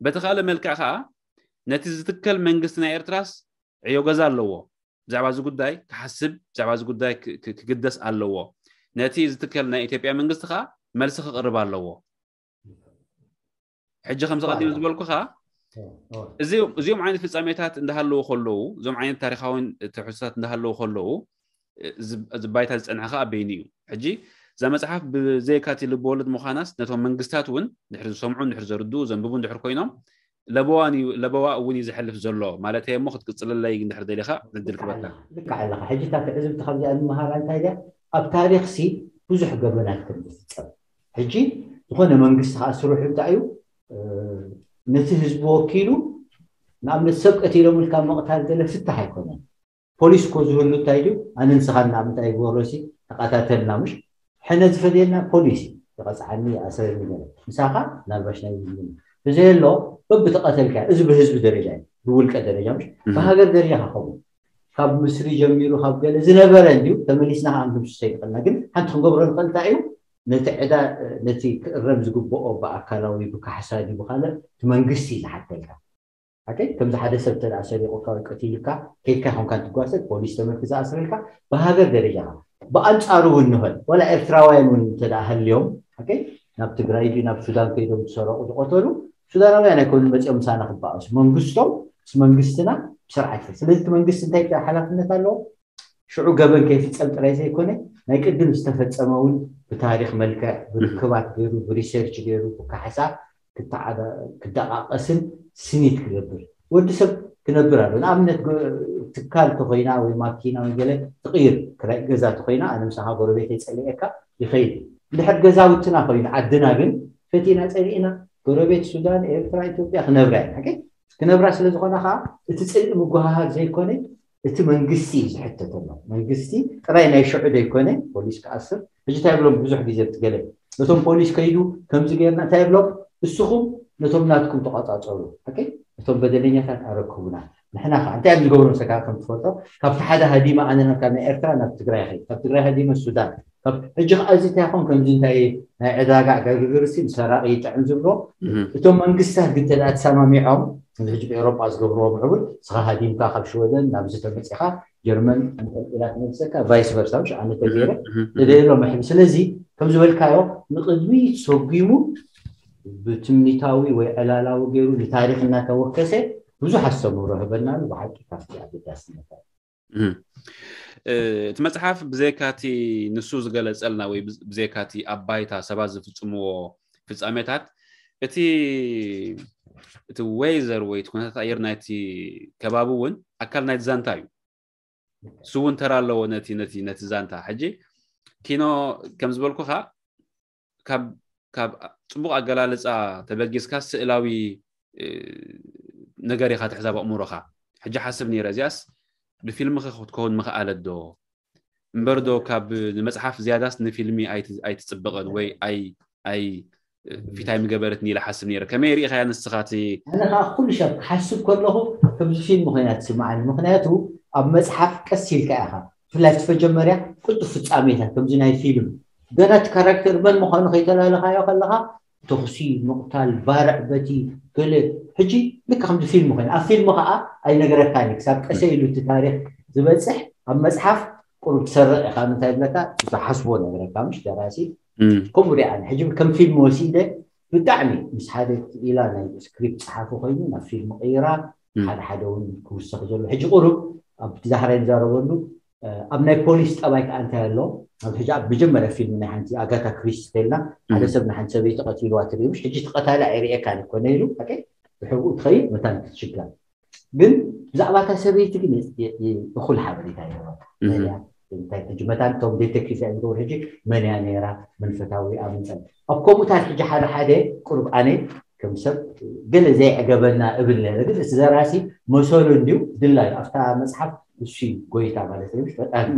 በቲ ካልእ መልክዕ ከዓ ነቲ ዝትከል መንግስቲ ናይ ኤርትራስ ዕዮ ገዛ ኣለዎ። ብዛዕባ እዚ ጉዳይ ክሓስብ ብዛዕባ እዚ ጉዳይ ክ- ክ- ክግደስ ኣለዎ። ነቲ ዝትከል ናይ ኢትዮጵያ መንግስቲ ከዓ መልሲ ክቕርብ ኣለዎ። ሕጂ ከምዚ ቀዲም ዝበልኩ ከዓ እዚ እዚኦም ዓይነት ፍጻሜታት እንዳሃለዉ ከለዉ እዞም ዓይነት ታሪካውን ትሕዝቶታት እንዳሃለዉ ከለዉ እዚ ባይታ ዝፀንሐ ከዓ በይኑ እዩ። ሕጂ እዛ መፅሓፍ ብዘይካቲ ልበወለድ ምዃናስ ነቶም መንግስታት እውን ድሕሪ ዝሰምዑ ድሕሪ ዘርድኡ ዘንብቡ ድሕር ኮይኖም ለበዋ እውን እዩ ዝሐልፍ ዘሎ ማለት እየ እሞ ክትቅፅለለይ እንድሕር ደሊኻ ዕድል ክበካ። ልክዕ ኣለኻ። ሕጂ እታ ትዕዝብቲ ካብዚኣ ንምሃራ እንታይ ድያ ኣብ ታሪክ ሲ ብዙሕ ገበናት ከም ዝፍፀም ሕጂ ዝኾነ መንግስቲ ከዓ ስርሑ እንታይ እዩ ነቲ ህዝቢ ወኪሉ ንኣብነት ሰብ ቀቲሎም ኢልካ ምቕታል ገለ ፍታሕ ኣይኮነን። ፖሊስ እኮ ዝህሉ እንታይ ድዩ ኣነ ንስኻ ንኣብነት ኣይግበሮ ሲ ተቐታተልና ምሽ ሕነ ዝፈድየልና ፖሊስ እዩ ይቐፅዓኒ ይኣስረኒ ገለ ምሳኻ ናልባሽ ናይ ዝምድና ብዘየሎ በብተቐተልካ እዚ ብህዝቢ ደረጃ እዩ ብውልቀ ደረጃ ምሽ ብሃገር ደረጃ ከኸውን ካብ ምስሪ ጀሚሩ ካብ ገለ ዝነበረ እንድዩ ተመሊስና ከዓ ክንምስሶ ይኽእልና ግን ሓንቲ ክንገብሮ ንኽእል እንታይ እዩ ነቲ ዕዳ ነቲ ክእረም ዝግብኦ ብኣካላዊ ብካሕሳ ድዩ ብካልእ እቲ መንግስቲ እዩ ዝሓተልካ ሓቀይ ከምዚ ሓደ ሰብ ተደኣ ሰሪቑካ ወይ ቀቲሉካ ከይድካ ይኾንካ እንትጓሰ ፖሊስ ተመልኪ ዝኣስረልካ ብሃገር ደረጃ ብኣንፃሩ እውን ንኸል ወላ ኤርትራውያን እውን እንተደኣ ሃልዮም ሓቀይ ናብ ትግራይ ድዩ ናብ ሱዳን ከይዶም ዝሰረቑ ዝቐተሉ ሱዳናውያን ኣይኮኑ መፂኦም ምሳና ክበኣሱ መንግስቶም ምስ መንግስትና ብስርዓት ስለዚ እቲ መንግስቲ እንታይ ሓላፍነት ኣለዎ ሽዑ ገበን ከይፍፀም ጥራይ ዘይኮነ ናይ ቅድም ዝተፈፀመ እውን ብታሪክ መልክዕ ብርክባት ገይሩ ብሪሰርች ገይሩ ብካሕሳ ክደቃቀስን ስኒት ክገብር ወዲ ሰብ ክነብር ኣሎ ንኣብነት ትካል ተኮይና ወይ ማኪና ወይ ገለ ትቅይር ክራይ ገዛ ተኮይና ኣነ ምሳካ ጎረቤተይ ፀሊኤካ ይኸይድ እንድሕር ገዛውትና ኮይኑ ዓድና ግን ፈቲና ፀሊእና ጎረቤት ሱዳን ኤርትራ ኢትዮጵያ ክነብራ ኢና ክነብራ ስለዝኮነ ከዓ እቲ ፅልኢ ምጉሃሃር ዘይኮነ እቲ መንግስቲ እዩ ዝሕተተሎም መንግስቲ ጥራይ ናይ ሽዑ ዘይኮነ ፖሊስ ክኣስር ሕጂ እንታይ ብሎም ብዙሕ ግዜ ብትገለ ነቶም ፖሊስ ከይዱ ከምዚ ገይርና እንታይ ብሎም እስኹም ነቶም ናትኩም ተቋፃፀሩ እቶም በደለኛታት ኣረክቡና ንሕና ከዓ እንታይ እዮም ዝገብሩ መሰካ ከም ትፈልጦ ካብቲ ሓደ ሃዲማ ኣነ ካብ ናይ ኤርትራ ናብ ትግራይ ከይድ ካብ ትግራይ ሃዲመ ሱዳን ሕጂ ከዓ እዚ እንታይ ይኾን ከምዚ እንታይ ናይ ዕዳጋ ዕጋግግርሲ ንሰራቂ ይጥዕም ዝብሎ እቶም መንግስታት ግን ተደኣ ተሰማሚዖም ሕጂ ብኤሮጳ ዝገብርዎ ምዕቡል ስኻ ሃዲምካ ካብ ሽወደን ናብ ዝተመፅኻ ጀርመን ኢላ ትመልሰካ ቫይስ ቨርሳ ምሽ ኣነ ተገይረ ተደየሎ መሕቢ ስለዚ ከም ዝበልካዮ ንቅድሚ ሰጒሙ ብትምኒታዊ ወይ ዕላላዊ ገይሩ ንታሪክ እናተወከሰ ብዙሕ ኣስተምህሮ ህበናሉ ብሓቂ ካብቲ ኣገዳስነት እቲ መፅሓፍ ብዘይካቲ ንሱ ዝገለፀልና ወይ ብዘይካቲ ኣብ ባይታ ሰባት ዝፍፅምዎ ፍፃሜታት እቲ እቲ ወይዘር ወይ እቲ ኩነታት ኣየር ናይቲ ከባቢ እውን ኣካል ናይቲ ዛንታ እዩ እሱ እውን ተራ ኣለዎ ነቲ ነቲ ነቲ ዛንታ ሕጂ ኪኖ ከም ዝበልኩኻ ካብ ካብ ፅቡቅ ኣገላልፃ ተበጊስካ ስእላዊ ነገር ኢካ ትሕዛብ ኣእምሮካ ሕጂ ሓስብ ነይረ እዚኣስ ብፊልም ክትከውን ምክኣለት ዶ እምበር ዶ ካብ ንመጽሓፍ ዝያዳስ ንፊልሚ ኣይት- ኣይትጽብቕን ወይ ኣይ ኣይ ፊታይ ምገበረትኒ ኢለ ሓስብ ነይረ። ከመይ ርኢኻያ ንስኻ እቲ ኣነ ከዓ ኩሉ ሰብ ክሓስብ ከለኹ ከምዚ ፊልም ኮይና ትስምዓኒ። ምክንያቱ ኣብ መፅሓፍ ቀስ ኢልካ ኢኻ፣ ብፍላይ እቲ መጀመርያ ቅልጡፍ ፍፃሜታት ከምዚ ናይ ፊልም ገና እቲ ካራክተር መን ምዃኑ ከይተላለኻዮ ከለኻ ተኹሲ፣ ምቕታል፣ ባርዕ በቲ ገለ ሕጂ ልክ ከምዚ ፊልም ኮይኑ ኣብ ፊልም ከዓ ኣይነገረካን እዩ። ክሳብ ቀሰ ኢሉ እቲ ታሪክ ዝበፅሕ ኣብ መፅሓፍ ቁሩብ ትሰርቕ ኢኻ። ምንታይ ብለካ ዝሓስቦ ነገረካ ምሽ ደራሲ ከምኡ ሪኣ ሕጂ ከም ፊልም ወሲደ ብጣዕሚ ምስ ሓደ ኢላ ናይ ስክሪፕት ፀሓፊ ኮይኑ ናብ ፊልም ቀይራ ሓደ ሓደ እውን ክውሰኽ ዘሎ ሕጂ ቁሩብ ኣብ ዛህራ ንዛረበሉ ኣብ ናይ ፖሊስ ጠባይ ከዓ እንታይ ኣሎ ኣብ ሕጂ ኣብ መጀመርያ ፊልም ናይ ሓንቲ ኣጋታ ክሪስቲ ተልና ሓደ ሰብ ንሓንቲ ሰበይቲ ቀቲልዋ ትሪኡ ምሽ ሕጂ ተቐታሊ ኣይርእየካን ኮነ ኢሉ ሓቀይ ብሕብኡ ትኸይድ መታን ክትሽጋር ግን ብዛዕባ እታ ሰበይቲ ግን እኹል ሓበሬታ ይህባ እንታይ ሕጂ መታን እቶም ዴቴክቲቭ እዮም ዝገብሩ ሕጂ መን እያ ነይራ መን ፈታዊ ኣብ ምንታይ ኣብ ከምኡታት ሕጂ ሓደ ሓደ ቁሩብ ኣነ ከም ሰብ ገለ ዘይዕገበና እብል ነረ ግን እቲ ዘራሲ መሰሉ እንዲዩ ድላይ ኣብታ መፅሓፍ እሱ ጎይታ ማለት እዩ ፈጣን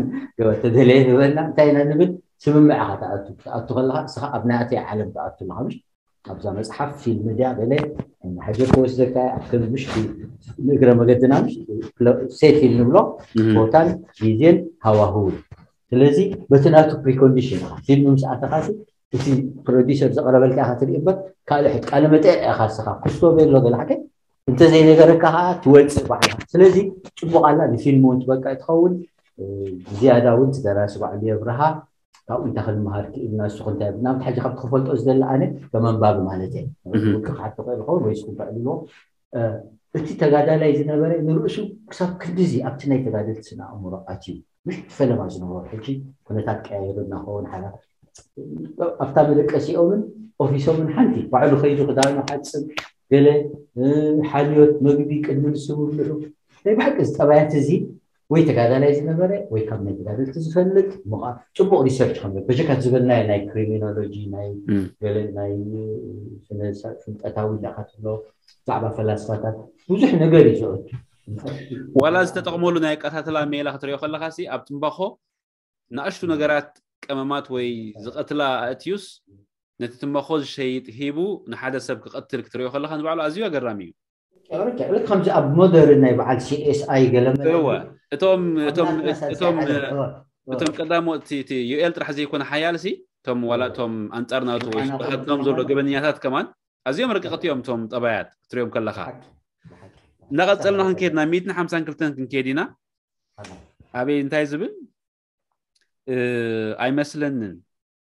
ተደለየ ዝበልና እንታይ ኢና ንብል ስምምዕ ኢኻ ትኣቱ ትኣቱ ከለካ እስኻ ኣብ ናተይ ዓለም ትኣቱ ኣለካ ምሽ ኣብዛ መፅሓፍ ፊልም ድያ ገለ ሕጀር ክወስደካ ኣብ ከም ምሽ ንእግረ መገድና ሴት ፊልም ንብሎ ቦታን ግዜን ሃዋህው ስለዚ በቲ ናቱ ፕሪኮንዲሽን ኢኻ ፊልም ምስ ኣተኻሲ እቲ ፕሮዲሰር ዘቕረበልካ ኢኻ ትርኢ እምበር ካልእ ሕት ቃለ መጠየቅ ኢኻ ስኻ ክስቶ ቤሎ ገለ ሓቀ እንተዘይነገረካ ከዓ ትወፅእ ባዕላ ስለዚ ፅቡቅ ኣላ ንፊልም እውን ትበቅዕ ትኸውን ዝያዳ እውን ትደራሲ ባዕሉ የብርሃ ካብኡ እንታይ ክንመሃር ክኢልና ንሱ ክንታይ ናብ ሕጂ ካብ ክፈልጦ ዝደሊ ኣነ ከም ኣንባቢ ማለት እየ ውልቂ ክሓቶ ክእል ይኸውን ወይ ስኩባዕ ኢልዎ እቲ ተጋዳላይ ዝነበረ ንርእሱ ክሳብ ክንድዚ ኣብቲ ናይ ተጋደልቲ ስነ ኣእምሮ ኣትዩ ምሽ ፈለማ ዝነበሩ ሕጂ ኩነታት ቀያይሩ እናኸውን ሓላ ኣብታ መደቀሲኦምን ኦፊሶምን ሓንቲ ባዕሉ ከይዱ ክዳኑ ሓፅብ ገለ ሓልዮት መግቢ ቅድሚ ንሱ ምብልዑ ናይ ብሓቂ ዝጠባያት እዚ ወይ ተጋዳላይ ዝነበረ ወይ ካብ ናይ ተጋደልቲ ዝፈልጥ ምቓ ፅቡቅ ሪሰርች ከም በጀካት ዝበልናዮ ናይ ክሪሚኖሎጂ ናይ ገለ ናይ ፍልጠታዊ ኢላካ ትብሎ ብዛዕባ ፈላስፋታት ብዙሕ ነገር እዩ ዝኦት ዋላ ዝተጠቕመሉ ናይ ኣቀታትላ ሜላ ክትሪኦ ከለካ ሲ ኣብ ትንባኾ ንኣሽቱ ነገራት ቀመማት ወይ ዝቐትላ ኣእትዩስ ነቲ ትንባኾ ዝሸይጥ ሂቡ ንሓደ ሰብ ክቐትል ክትሪኦ ከለካ ንባዕሉ ኣዝዩ ኣገራሚ እዩ ልክ ከምዚ ኣብ ሞደርን ናይ በዓል ሲኤስኣይ ገለ እወ እቶም እቶም እቶም እቶም ቀዳሞ እቲ እቲ ዩኤል ጥራሕ ዘይኮነ ሓያል ሲ እቶም ዋላ እቶም ኣንጻር ናቱ ወይ ስብሃትኖም ዘሎ ገበነኛታት ከማን ኣዝዮም ረቀቕቲ እዮም እቶም ጠባያት ክትሪኦም ከለካ እናቐጸልና ክንከይድ ናብ ሚእትን ሓምሳን ክልተን ክንከይድ ኢና ኣበይ እንታይ ዝብል ኣይመስለንን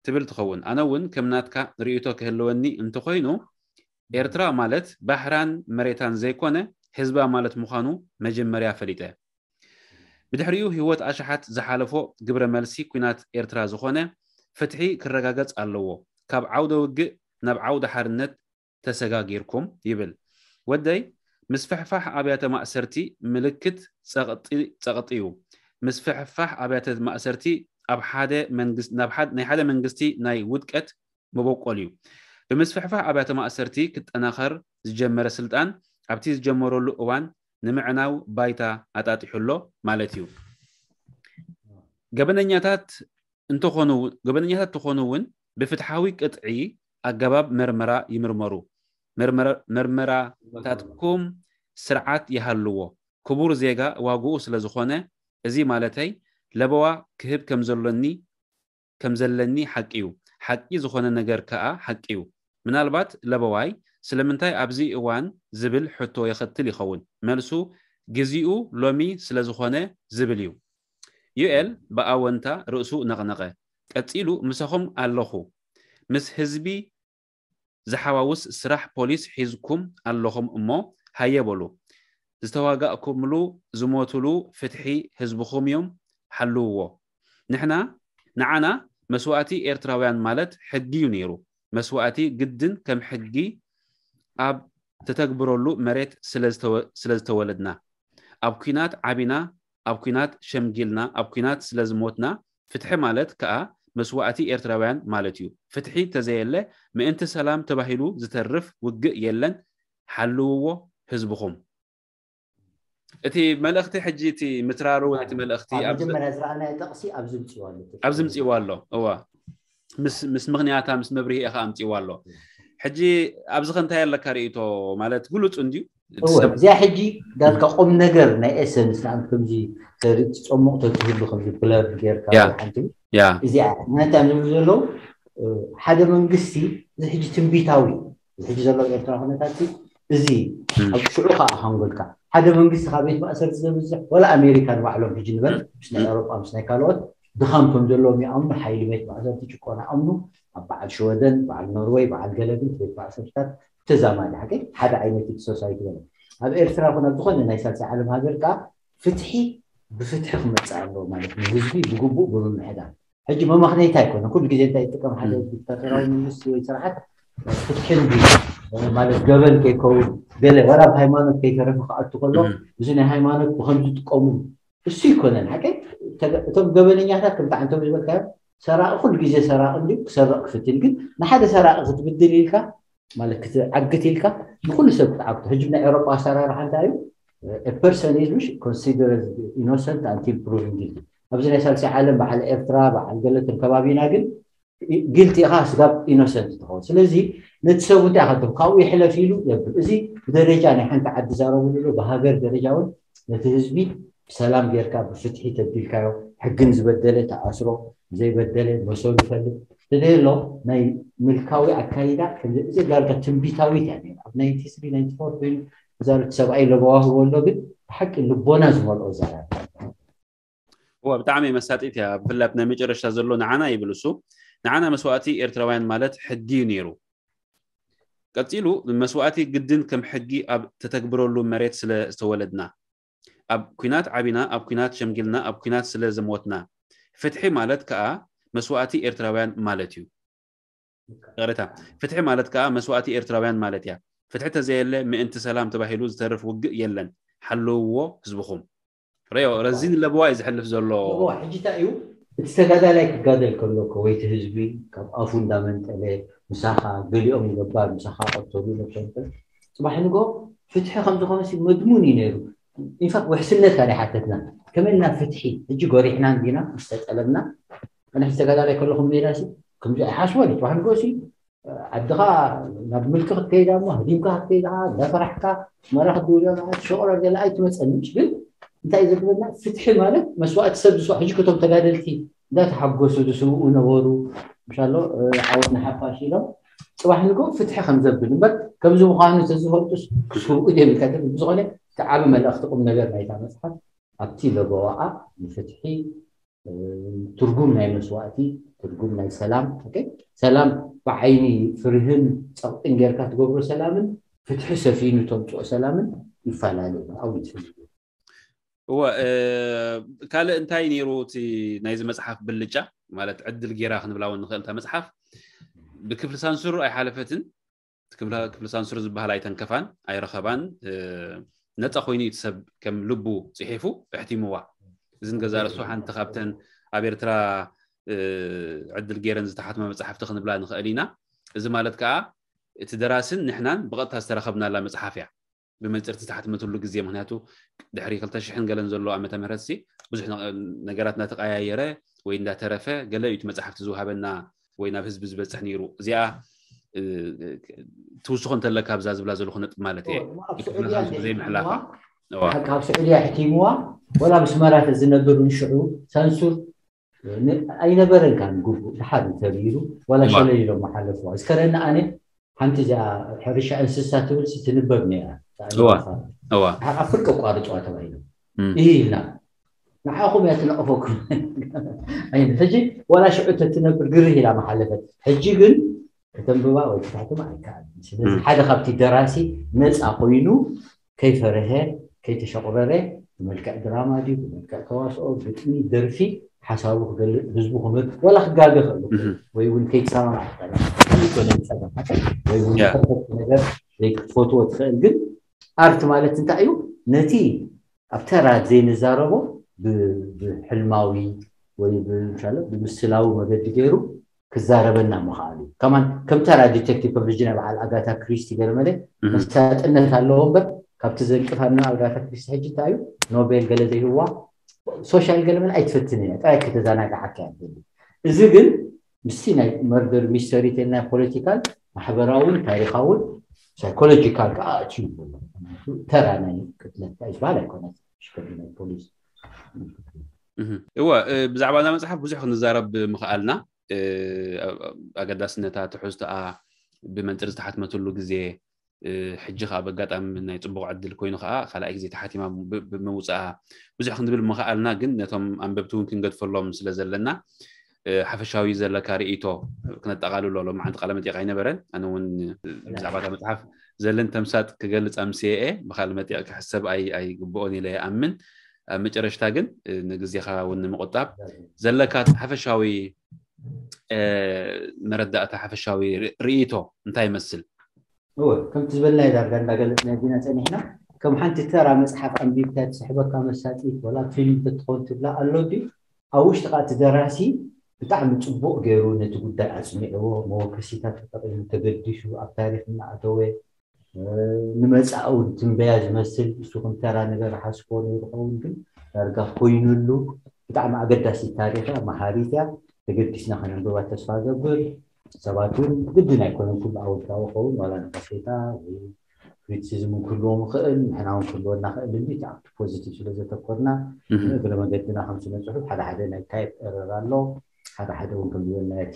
ትብል ትኸውን ኣነ እውን ከም ናትካ ርእይቶ ክህልወኒ እንተኮይኑ ኤርትራ ማለት ባሕራን መሬታን ዘይኮነ ህዝባ ማለት ምዃኑ መጀመርያ ፈሊጠ ብድሕሪኡ ህይወት ኣሽሓት ዝሓለፎ ግብረ መልሲ ኲናት ኤርትራ ዝኾነ ፍትሒ ክረጋገጽ ኣለዎ ካብ ዓውደ ውግእ ናብ ዓውደ ሓርነት ተሰጋጊርኩም ይብል ወደይ ምስፍሕፋሕ ኣብያተ ማእሰርቲ ምልክት ጸቕጢ እዩ ምስፍሕፋሕ ኣብያተ ማእሰርቲ ኣብ ሓደ ናይ ሓደ መንግስቲ ናይ ውድቀት መበቆል እዩ ብምስፍሕፋሕ ኣብያተ ማእሰርቲ ክጠናኸር ዝጀመረ ስልጣን ኣብቲ ዝጀመረሉ እዋን ንምዕናው ባይታ ኣጣጢሑ ኣሎ ማለት እዩ ገበነኛታት እንተኾኑ ገበነኛታት ተኾኑ እውን ብፍትሓዊ ቅጥዒ ኣገባብ መርመራ ይምርመሩ። መርመራታትኩም ስርዓት ይሃልዎ። ክቡር ዜጋ ዋግኡ ስለዝኾነ፣ እዚ ማለተይ ለበዋ ክህብ ከምዘሎኒ ከምዘለኒ ሓቂ እዩ። ሓቂ ዝኾነ ነገር ከኣ ሓቂ እዩ። ምናልባት ለበዋይ ስለምንታይ ኣብዚ እዋን ዝብል ሕቶ የኸትል ይኸውን። መልሱ ግዜኡ ሎሚ ስለዝኾነ ዝብል እዩ። ዩኤል ብኣወንታ ርእሱ ነቕነቐ። ቀጺሉ፣ ምሳኹም ኣለኹ። ምስ ህዝቢ ዝሓዋውስ ስራሕ ፖሊስ ሒዝኩም ኣለኹም እሞ ሃየ በሉ። ዝተዋጋእኩምሉ ዝሞቱሉ ፍትሒ ህዝብኹም እዮም፣ ሓልውዎ። ንሕና ንዓና መስዋእቲ ኤርትራውያን ማለት ሕጊ እዩ ነይሩ። መስዋእቲ ግድን ከም ሕጊ ኣብ ተተግብረሉ መሬት ስለዝተወለድና፣ ኣብ ኲናት ዓቢና፣ ኣብ ኲናት ሸምጊልና፣ ኣብ ኲናት ስለዝሞትና፣ ፍትሒ ማለት ከኣ መስዋእቲ ኤርትራውያን ማለት እዩ። ፍትሒ ተዘየለ ምእንቲ ሰላም ተባሂሉ ዝተርፍ ውግእ የለን። ሓልውዎ ህዝብኹም። እቲ መልእኽቲ ሕጂ እቲ ምትራሩ ናይቲ መልእኽቲ ኣብ ኣብ መጀመርያ ዝረኣናዮ ጥቕሲ ኣብዚ ምፅዋ ኣሎ። ኣብዚ ምፅዋ ኣሎ። እዋ ምስ ምስ ምኽንያታ ምስ መብርሂ ኢኻ ኣምፅዋ ኣሎ። ሕጂ ኣብዚ ከ እንታይ ኣለካ ርእይቶ? ማለት ግሉፅ እንድዩ እቲ እወ ሰብ እዚኣ ሕጂ ዳርካ ቁም ነገር ናይ ኤሰንስ ንኣም ከምዚ ተሪ- ትፀሙቕ ተትህሉ ከምዚ ብለር ጌርካ ያ። ሓንቲ ያ እዚኣ ነታ ንብሉ ዘለዉ እ፣ ሓደ መንግስቲ እዚ ሕጂ ትንቢታዊ እዩ። እዚ ሕጂ ዘሎ ኤርትራ ኩነታት እዚ እም፣ ኣብ ሽዑ ከዓ ሃንጎልካ ሓደ መንግስቲ ካብ ቤት ማእሰርቲ ዘብዝሕ ወላ ኣሜሪካ ንባዕሎም ሕጂ ንበል ምስ ናይ ኤውሮጳ ምስ ናይ ካልኦት ድኻም ከም ዘለዎም ይኣምኑ። ሓይሊ ቤት ማእሰርቲ ጭቆና ኣምኑ ኣብ በዓል ሽወደን በዓል ኖርወይ በዓል ገለግል ቤት ማእሰርታት ተዛማዲ ሓቂ ሓደ ዓይነት እቲ ሶሳይቲ በለ ኣብ ኤርትራ ኮነ ኣብ ዝኾነ ናይ ሳልሳይ ዓለም ሃገር ከዓ ፍትሒ ብፍትሒ ክመፅእ ኣለዎ ማለት ንህዝቢ ብግቡእ ብምምሕዳር ሕጂ መመኽነይታ ኣይኮነ ኩሉ ግዜ እንታይ ይጥቀም ሓደ ዲክታተራዊ መንግስቲ ወይ ስርዓት ፍትሒ እንዲ ማለት ገበን ከይከውን ገለ ዋላ ብ ሃይማኖት ከይተረፈ ክኣቱ ከሎ እም፣ እዚ ናይ ሃይማኖት ብከም ዝጥቀሙ እሱ ይኮነን ሓቂ እቶም ገበነኛታት ከምቲ ዓንቶም ዝበልካዮ ሰራቂ ኩሉ ግዜ ሰራቂ እንዲ ክሰርቕ ክፍትን ግን ንሓደ ሰራቂ ክትብድል ኢልካ ማለት ክትዓግት ኢልካ ንኩሉ ሰብ ክትዓግቶ ሕጂ ናይ ኤውሮጳ ኣሰራርሓ እንታይ እዩ person is considered innocent until proven guilty ኣብዚ ናይ ሳልሳይ ዓለም በዓል ኤርትራ በዓል ገለትን ከባቢና ግን ጊልቲ ኢኻ ስጋብ ኢኖሰንት ትኸውን ስለዚ ነቲ ሰብ እንታይ ከ ካብኡ ይሕለፍ ኢሉ የብል እዚ ብደረጃ ናይ ሓንቲ ዓዲ ዛረብሉ ብሃገር ደረጃ እውን ነቲ ህዝቢ ብሰላም ጌርካ ብፍትሒ ተቢልካዮ ሕግን ዝበደለ ተኣስሮ ዘይበደለ መሰሉ ይፈልጥ ተደሎ ናይ ምልካዊ ኣካይዳ እዚ ዳርጋ ትንቢታዊት እያ ኣብ ናይንቲ ስሪ ናይንቲ ፎር ኮይኑ ዛረቲ ሰብኣይ ለበዋ ህቦ ኣሎ ግን ብሓቂ ልቦና ዝመልኦ ዛራ እዋ ብጣዕሚ መሳጢት እያ። ብፍላይ ናይ መጨረሽታ ዘሎ ንዓና ይብል እሱ ንዓና መስዋእቲ ኤርትራውያን ማለት ሕጊ እዩ ነይሩ። ቀጺሉ መስዋእቲ ግድን ከም ሕጊ ኣብ ተተግብረሉ መሬት ስለ ዝተወለድና ኣብ ኩናት ዓቢና ኣብ ኩናት ሸምጊልና ኣብ ኩናት ስለ ዘሞትና ፍትሒ ማለት ከኣ መስዋእቲ ኤርትራውያን ማለት እዩ። ይቕሬታ ፍትሒ ማለት ከኣ መስዋእቲ ኤርትራውያን ማለት እያ። ፍትሒ ተዘየለ ምእንቲ ሰላም ተባሂሉ ዝተርፍ ውግእ የለን። ሓለውዎ ህዝብኹም። ረዮ ረዚን ለበዋ እዩ ዝሕልፍ ዘሎ። ሕጂ እንታይ እዩ እቲ ተጋዳላይ ክጋደል ከሎ እኮ ወይ እቲ ህዝቢ ካብ ኣፉ እንዳመንጠለ ምሳኻ ገሊኦም ይገባር ምሳኻ ቀተሉ ነብሶም ጽባሕ ንጎ ፍትሒ ከም ዝኾነ ሲ መድሙን እዩ ነይሩ። ኢንፋክት ውሕስነት ካደ ሓተትና ከመልና ፍትሒ ሕጂ ጎሪሕና እንዲና ምስ ተጠለብና ኣነ ሕጂ ተጋዳላይ ከለኹም ሜዳ ሲ ከምዚ ኣይሓስቦን እዩ ጽባሕ ንጎ ሲ ዓድኻ ናብ ምልኪ ክትከይዳ እሞ ህዲምካ ክትከይዳ እንዳፈራሕካ መራ ክትድውሎ ሸቆሮ ገለ ኣይትመፀንሽ ግን እንታይ ዘግበና ፍትሒ ማለት መስዋእቲ ሰብ ዝስዋ ሕጂ ከቶም ተጋደልቲ እንዳተሓጎሱ ዝስውኡ ነበሩ ምሻሎ ዓወት ንሓፋሽ ኢሎም ፅባሕ ንጎ ፍትሒ ከም ዘብል እምበር ከምዚ ምዃኑ ተዝፈልጡስ ክስውኡ ደልካ ዝብል ብዝኾነ እቲ ዓቢ መልእኽቲ ቁም ነገር ናይታ መፅሓፍ ኣብቲ ለበዋኣ ንፍትሒ ትርጉም ናይ መስዋእቲ ትርጉም ናይ ሰላም ሰላም ብዓይኒ ፍርህን ፀቕጥን ጌርካ ትገብሮ ሰላምን ፍትሒ ሰፊኑ ተምፅኦ ሰላምን ይፈላለ ኣብ እወ ካልእ እንታይ ነይሩ እቲ ናይዚ መፅሓፍ ብልጫ ማለት ዕድል ጌራ ክንብላ እውን ንኽእል እታ መፅሓፍ ብክፍሊ ሳንሱር ኣይሓለፈትን ክፍሊ ሳንሱር ዝበሃል ኣይተንከፋን ኣይረኸባን ነፃ ኮይኑ እቲ ሰብ ከም ልቡ ፅሒፉ ኣሕቲምዋ እዚ ንገዛ ርእሱ ሓንቲ ካብተን ኣብ ኤርትራ ዕድል ገይረን ዝተሓትመ መፅሓፍቲ ክንብላ ንኽእል ኢና እዚ ማለት ከዓ እቲ ደራስን ንሕናን ብቐጥታ ዝተረኸብናላ መፅሓፍ እያ ብመንፅርቲ ዝተሓትመትሉ ግዜ ምክንያቱ ድሕሪ ክልተ ሽሕን ገለን ዘሎ ዓመተ ምህረት ሲ ብዙሕ ነገራት እናተቀያየረ ወይ እንዳተረፈ ገለ እዩ እቲ መፅሓፍቲ ዝውሃበና ወይ ናብ ህዝቢ ዝበፅሕ ነይሩ እዚኣ ትውስኾ እንተለካ ኣብዛ ዝብላ ዘለኹ ነጥብ ማለት እየ ዘይምሕላፋ ካብ ስዑድያ ሕቲምዋ ወላ ምስ መራት ዝነብር ንሽዑ ሳንሱር ኣይነበረን ካብ ግቡእ ድሓር ተቢሉ ዋላ ሸለል ኢሎም ሓለፍዋ እስከረና ኣነ ሓንቲ እዚኣ ሕርሻ እንስሳ ትብል ትንበብ ነይራ ኣብ ፍርቂ ኣቋርፅዋ ተባሂሎም ኢልና ንዓኹም እያ ትነቕፈኩም ሕጂ ዋላ ሽዑ ተትነብር ግርህ ኢላ መሓለፈት ሕጂ ግን ከተንብባ ወይ ክትሕትማ ኣይከኣልን ስለዚ ሓደ ካብቲ ደራሲ ነፃ ኮይኑ ከይፈረሀ ከይተሸቑረረ ብመልክዕ ድራማ ድዩ ብመልክዕ ተዋስኦ ግጥሚ ደርፊ ሓሳቡ ክገልፅ ህዝቡ ክምር ዋላ ክጋገ ክእል ወይ እውን ከይተሰማማዕ ክእል ይኮነ ፀገም ወይ እውን ከፈት ነገር ዘይክትፈትዎ ትኽእል ግን ኣርት ማለት እንታይ እዩ ነቲ ኣብ ተራ ዘይንዛረቦ ብሕልማዊ ወይ ብምስላዊ መገዲ ገይሩ ክዛረበና ምኽኣሉ ከማን ከም ተራ ዲቴክቲቭ ኮሚሽነር በዓል ኣጋታ ክሪስቲ ገለመለ መሳጥነት ኣለዎ እምበር ካብቲ ዘንቅፋና ኣብ ኣጋታ ክሪስቲ ሕጂ እንታይ እዩ? ኖቤል ገለ ዘይህዋ ሶሻል ገለ መለ ኣይትፈትን እያ። ጥራይ ከተዘናግዓካ እያ ትደሊ። እዚ ግን ምስቲ ናይ መርደር ሚስተሪ ተልና ፖለቲካል፣ ማሕበራውን ታሪኻውን ሳይኮሎጂካል ከዓ ኣትዩ ኣሎ። ተራ ናይ ቅትለት ዝበሃል ኣይኮነን። ሽከዲ ናይ ፖሊስ እወ፣ ብዛዕባ እዛ መፅሓፍ ብዙሕ ክንዛረብ ምኽኣልና፣ ኣገዳስነታ፣ ትሕዝቶኣ፣ ብመንፅር ዝተሓትመትሉ ግዜ፣ ሕጂ ከዓ በጋጣሚ ናይ ፅቡቕ ዕድል ኮይኑ ከዓ ካልኣይ ግዜ ተሓቲማ ብምውፅኣ ብዙሕ ክንብል ምኽኣልና፣ ግን ነቶም ኣንበብቲ እውን ክንገድፈሎም ስለ ዘለና ሓፈሻዊ ዘለካ ርእይቶ ክነጠቓልሎ። ሎማዓንቲ ቃለ መጠይቕ ኣይነበረን። ኣነ እውን ብዛዕባ እታ መፅሓፍ ዘለን ተምሳጥ ክገልፅ ኣምስየ እየ። ብካል መጠይቕ ክሕሰብ ኣይግብኦን ኢለ ይኣምን። ኣብ መጨረሽታ ግን ንግዜኻ እውን ንምቑጣብ ዘለካ ሓፈሻዊ መረዳእታ፣ ሓፈሻዊ ርእይቶ እንታይ ይመስል? እወ፣ ከምቲ ዝበልናዮ ዳርጋ እንዳገለፅና ዲና ፀኒሕና። ከም ሓንቲ ተራ መፅሓፍ ኣንቢብካ ትስሕበካ መሳጢት ወላ ፊልም ተትኾን ትብላ ኣሎ ድዩ? ኣብ ውሽጢ ከዓ እቲ ደራሲ ብጣዕሚ ፅቡቕ ገይሩ ነቲ ጉዳይ ኣፅኒዕዎ፣ መወከሲታት ተጠቒሙ፣ ተገዲሱ ኣብ ታሪክ እናኣተወ፣ ንመፃኢ እውን ትንበያ ዝመስል፣ እሱ ከም ተራ ነገር ሓስቦ ነይሩ ኸውን፣ ግን ዳርጋ ኮይኑሉ። ብጣዕሚ ኣገዳሲ ታሪክ እያ፣ መሃሪት እያ። ተገዲስና ከነንብባ ተስፋ ገብር። ሰባት እውን ግድን ኣይኮነን ኩሉ ኣወንታዊ ኸውን፣ ዋላ ነቀፌታ ወይ ክሪቲሲዝም ክህልዎም ይኽእል፣ ንሕና እውን ክህልወና ክእል እንዲ፣ እቲ ኣብቲ ፖዚቲቭ ስለ ዘተኮርና፣ እግረ መገድና ከም ስነ ፅሑፍ ሓደ ሓደ ናይ ታይፕ ኤረር ኣሎ፣ ሓደ ሓደ እውን ከም ዝበልና እቲ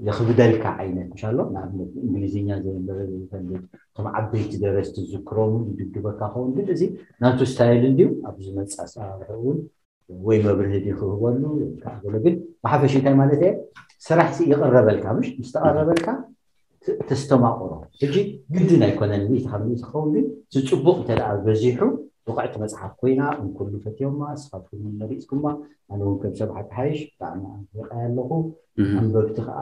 የኽብደልካ ዓይነት ምሻሎ። ንኣብነት እንግሊዝኛ ዘየንበበ ዘይፈልጥ፣ እቶም ዓበይቲ ደረስቲ ዝዝክሮም ይድብድበካ ኸውን፣ ግን እዚ ናቱ ስታይል እንድዩ። ኣብ ዝመፅእ ኣሰራርሕኡ እውን ወይ መብርሂ ድዩ ክህበሉ ወይ ከዓ ገለ፣ ግን ብሓፈሽ እንታይ ማለት እየ፣ ስራሕ ሲ ይቕረበልካ፣ ምሽ ምስ ተቐረበልካ ተስተማቕሮ። ሕጂ ግድን ኣይኮነን፣ ሚእቲ ካብ ሚእቲ ክኸውን፣ ግን እቲ ፅቡቕ እንተ ደኣ በዚሑ ብቕዕቲ መፅሓፍ ኮይና፣ እንኩሉ ፈትዮማ፣ ንስኻትኩም እውን መሪፅኩማ፣ ኣነ እውን ከም ሰብ ሓቂ ሓይሽ ብጣዕሚ ኣድኒቐያ ኣለኹ። ኣንበብቲ ከዓ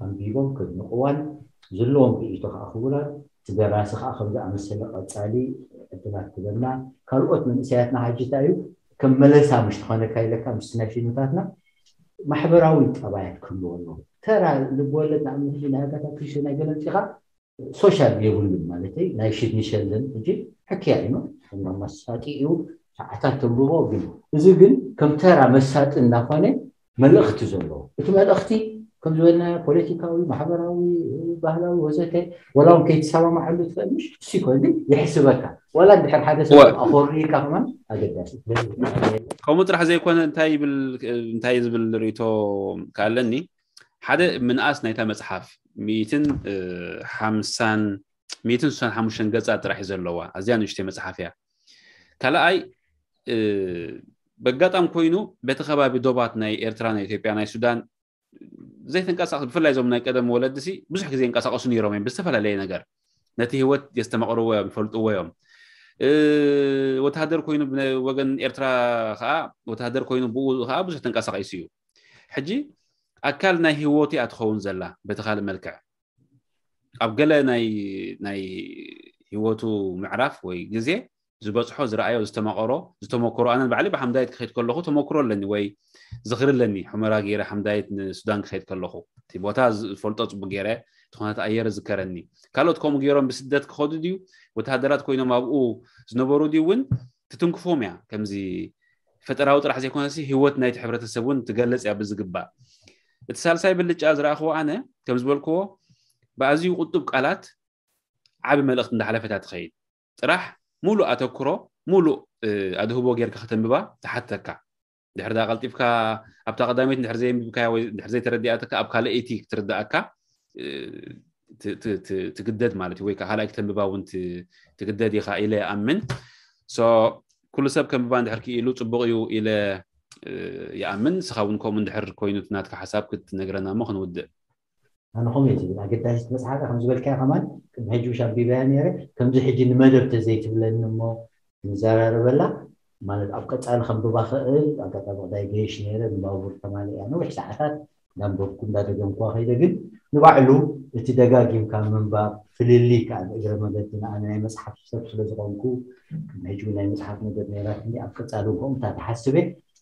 ኣንቢቦም ከድንቕዋን ዘለዎም ርእይቶ ከዓ ክቡራት፣ እቲ ደራሲ ከዓ ከም ዝኣመሰለ ቀፃሊ ዕድላት ክበና። ካልኦት መንእሰያትና ሓጂ እንታይ እዩ ከም መለሳ ምሽ ትኾነካ ኢለካ ምስ ናይ ፊልምታትና ማሕበራዊ ጠባያት ክህልዎ ኣለዎ። ተራ ልብወለድ ንኣብነት ሕጂ ናይ ኣጋታ ክሪስቲ ናይ ገለ ኣምፂኻ ሶሻል የብሉን ማለተይ፣ ናይ ሽድኒ ሸልደን ሕጂ ሕክያ እዩ፣ ከም መሳጢ እዩ፣ ሰዓታት ተንብቦ። ግን እዚ ግን ከም ተራ መሳጢ እንዳኾነ መልእኽቲ ዘለዎ፣ እቲ መልእኽቲ ከም ዝበልና ፖለቲካዊ፣ ማሕበራዊ፣ ባህላዊ ወዘተ፣ ወላ እውን ከይትሰማማዓሉ ትኽእል ምሽ እሱ ይኮን፣ ግን ይሕስበካ። ወላ እንድሕር ሓደ ሰብ ኣኾርካ ከማን ኣገዳሲ። ከምኡ ጥራሕ ዘይኮነ እንታይ ይብል፣ እንታይ ዝብል ርእይቶ ከኣለኒ፣ ሓደ ምንኣስ ናይታ መፅሓፍ ሚእትን ሓምሳን ሚእትን ስሳን ሓሙሽተን ገፃት ጥራሕ እዩ ዘለዋ፣ ኣዝያ ንእሽተይ መፅሓፍ እያ። ካልኣይ በጋጣም ኮይኑ በቲ ከባቢ ዶባት ናይ ኤርትራ፣ ናይ ኢትዮጵያ፣ ናይ ሱዳን ዘይተንቀሳቐሱ፣ ብፍላይ እዞም ናይ ቀደም ወለድሲ ብዙሕ ግዜ ይንቀሳቐሱ ነይሮም እዮም ብዝተፈላለየ ነገር። ነቲ ህይወት የስተማቕርዎ እዮም፣ ይፈልጥዎ እዮም። ወተሃደር ኮይኑ ወገን ኤርትራ ከዓ፣ ወተሃደር ኮይኑ ብኡ ከዓ ብዙሕ ተንቀሳቒሱ እዩ። ሕጂ ኣካል ናይ ህይወቱ እያ ትኸውን ዘላ በቲ ካልእ መልክዕ። ኣብ ገለ ናይ ናይ ህይወቱ ምዕራፍ ወይ ግዜ ዝበፅሖ፣ ዝረኣዮ፣ ዝተማቐሮ፣ ዝተመክሮ፣ ኣነ ባዕሊ ብሓምዳይት ክኸይድ ከለኹ ተመክሮ ኣለኒ ወይ ዝኽሪ ኣለኒ። ሑመራ ገይረ ሓምዳይት ንሱዳን ክኸይድ ከለኹ እቲ ቦታ ዝፈልጦ ፅቡቅ ገይረ፣ እቲ ኩነታት ኣየር ዝከረኒ። ካልኦት ከምኡ ገይሮም ብስደት ክኸዱ ድዩ፣ ወተሃደራት ኮይኖም ኣብኡ ዝነበሩ ድዩ እውን ትትንክፎም እያ። ከምዚ ፈጠራዊ ጥራሕ ዘይኮነሲ ህይወት ናይቲ ሕብረተሰብ እውን ትገልፅ እያ ብዝግባእ። እቲ ሳልሳይ ብልጫ ዝረኣኽዎ ኣነ ከም ዝበልክዎ ብኣዝዩ ቁጡብ ቃላት ዓቢ መልእኽቲ እንዳሓለፈት እያ ትኸይድ። ጥራሕ ሙሉእ ኣተኩሮ፣ ሙሉእ ኣድህቦ ጌርካ ከተንብባ ትሓተካ። ድሕር ዳ ቀልጢፍካ ኣብታ ቀዳመይቲ ድሕር ዘየንብብካያ ወይ ድሕር ዘይተረዲኣትካ ኣብ ካልኣይቲ ክትርዳኣካ ትግደድ ማለት እዩ፣ ወይ ከዓ ካልኣይ ክተንብባ እውን ትግደድ ኢኻ ኢለ ይኣምን። ኩሉ ሰብ ከንብባ እንድሕር ክኢሉ ፅቡቕ እዩ ኢለ ይኣምን። ንስኻ እውን ከምኡ እንድሕር ኮይኑ ናትካ ሓሳብ ክትነግረና እሞ ክንውድእ። ኣነ ከምኡ እየ ዝብል። ኣገዳሲት መፅሓፍ ከም ዝበልካዮ ከማን ቅድሚ ሕጂ ውሽ ኣንቢበያ ነይረ። ከምዚ ሕጂ ንመደብ ተዘይትብለኒ እሞ ንዘራረበላ፣ ማለት ኣብ ቀፃሊ ከንብባ ክእል። ኣጋጣሚ ቅዳይ ገይሽ ነይረ፣ ንባቡር ተማሊእ እያ ነዊሕ ሰዓታት እንዳንበብኩ እንዳደገምኩዋ ከይደ። ግን ንባዕሉ እቲ ደጋጊምካ ምንባብ ፍልልይ ከዓ እግረ መገዲ ንኣነ ናይ መፅሓፍ ሰብ ስለ ዝኾንኩ ቅድሚ ሕጂ ናይ መፅሓፍ መደብ ነይራትኒ። ኣብ ቀፃሊ ከምኡታ ተሓስበ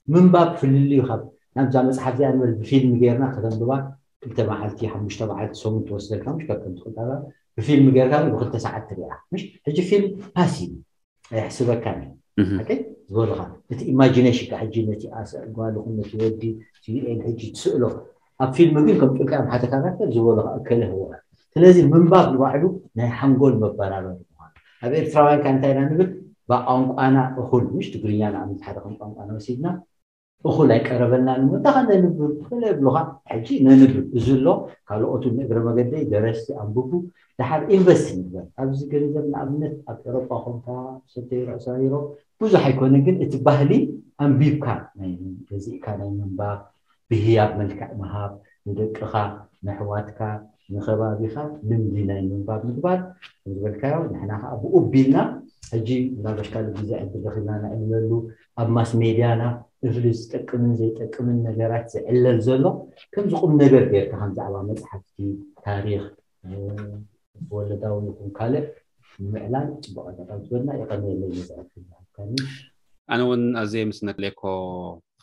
ምንባብ ፍልልዩ ካብ ናብዛ መፅሓፍ እዚኣ ንበል ብፊልም ጌርና ከተንብባ ክልተ መዓልቲ ሓሙሽተ መዓልቲ ሰሙን ትወስደልካ ምሽ ካብ ከምቲ ቅዳላ ብፊልም ጌርካ ብክልተ ሰዓት ትሪኣ ምሽ ሕጂ ፊልም ፓሲቭ ኣይሕስበካን እዩ። ዝበሉኻ እቲ ኢማጂኔሽን ካ ሕጂ ነቲ ጓል ኹን ነቲ ወዲ ዩኤል ሕጂ ትስእሎ ኣብ ፊልም ግን ከም ጭልካ እዮም ሓደ ካራክተር ዝበሉኻ እከለ ህወሓት። ስለዚ ምንባብ ንባዕሉ ናይ ሓንጎል መበራበር ምኳኑ ኣብ ኤርትራውያን ካ እንታይ ኢና ንብል? ብቋንቋና እኹል ምሽ ትግርኛ ንኣብነት ሓደ ከም ቋንቋና ወሲድና እኹል ኣይቀረበልናን እሞ እንታይ ነንብብ ክለ ብሉኻ። ሕጂ ነንብብ እዚ ኣሎ። ካልኦቱ ንእግረ መገደይ ደረስቲ ኣንብቡ። ድሓር ኢንቨስት ንግበር ኣብዚ ገንዘብ ንኣብነት ኣብ ኤሮጳ ኮንካ ሰተይ ርእሳ ዩሮፕ ብዙሕ ኣይኮነ ግን እቲ ባህሊ ኣንቢብካ ናይ ገዚእካ ናይ ምንባብ ብህያብ መልክዕ ምሃብ ንደቅኻ ንሕዋትካ ንኸባቢኻ ልምዲ ናይ ምንባብ ምግባር ዝበልካዮ ንሕና ከዓ ብኡ ቢልና ሕጂ ምናልባሽ ካልእ ግዜ ዕድል ረኺብና ነዕልለሉ ኣብ ማስ ሜድያና እፍሊ ዝጠቅምን ዘይጠቅምን ነገራት ዝዕለል ዘሎ ከምዚ ቁም ነገር ገይርካ ከም ዛዕባ መፅሓፍቲ ታሪክ ወለዳዊ ይኹን ካልእ ንምዕላል ፅቡቅ ኣጋጣሚ ዝበልና የቀንየለይ መፅሐፍ ዝሃብካኒ። ኣነ እውን ኣዘየ ምስነክሌኮ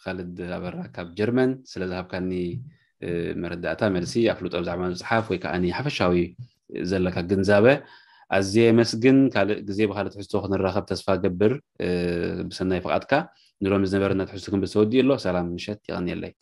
ካልድ ኣበራ ካብ ጀርመን ስለ ዝሃብካኒ መረዳእታ መልሲ ኣፍልጦ ብዛዕባ መፅሓፍ ወይ ከዓ ሓፈሻዊ ዘለካ ግንዛበ ኣዝየ የመስግን። ካልእ ግዜ ብካልእ ትሕዝቶ ክንራኸብ ተስፋ ገብር። ብሰናይ ፍቓድካ ንሎሚ ዝነበረና ትሕዝቶ ክንብል ተወዲኡ ኣሎ። ሰላም ምሸት፣ የቐንየለይ።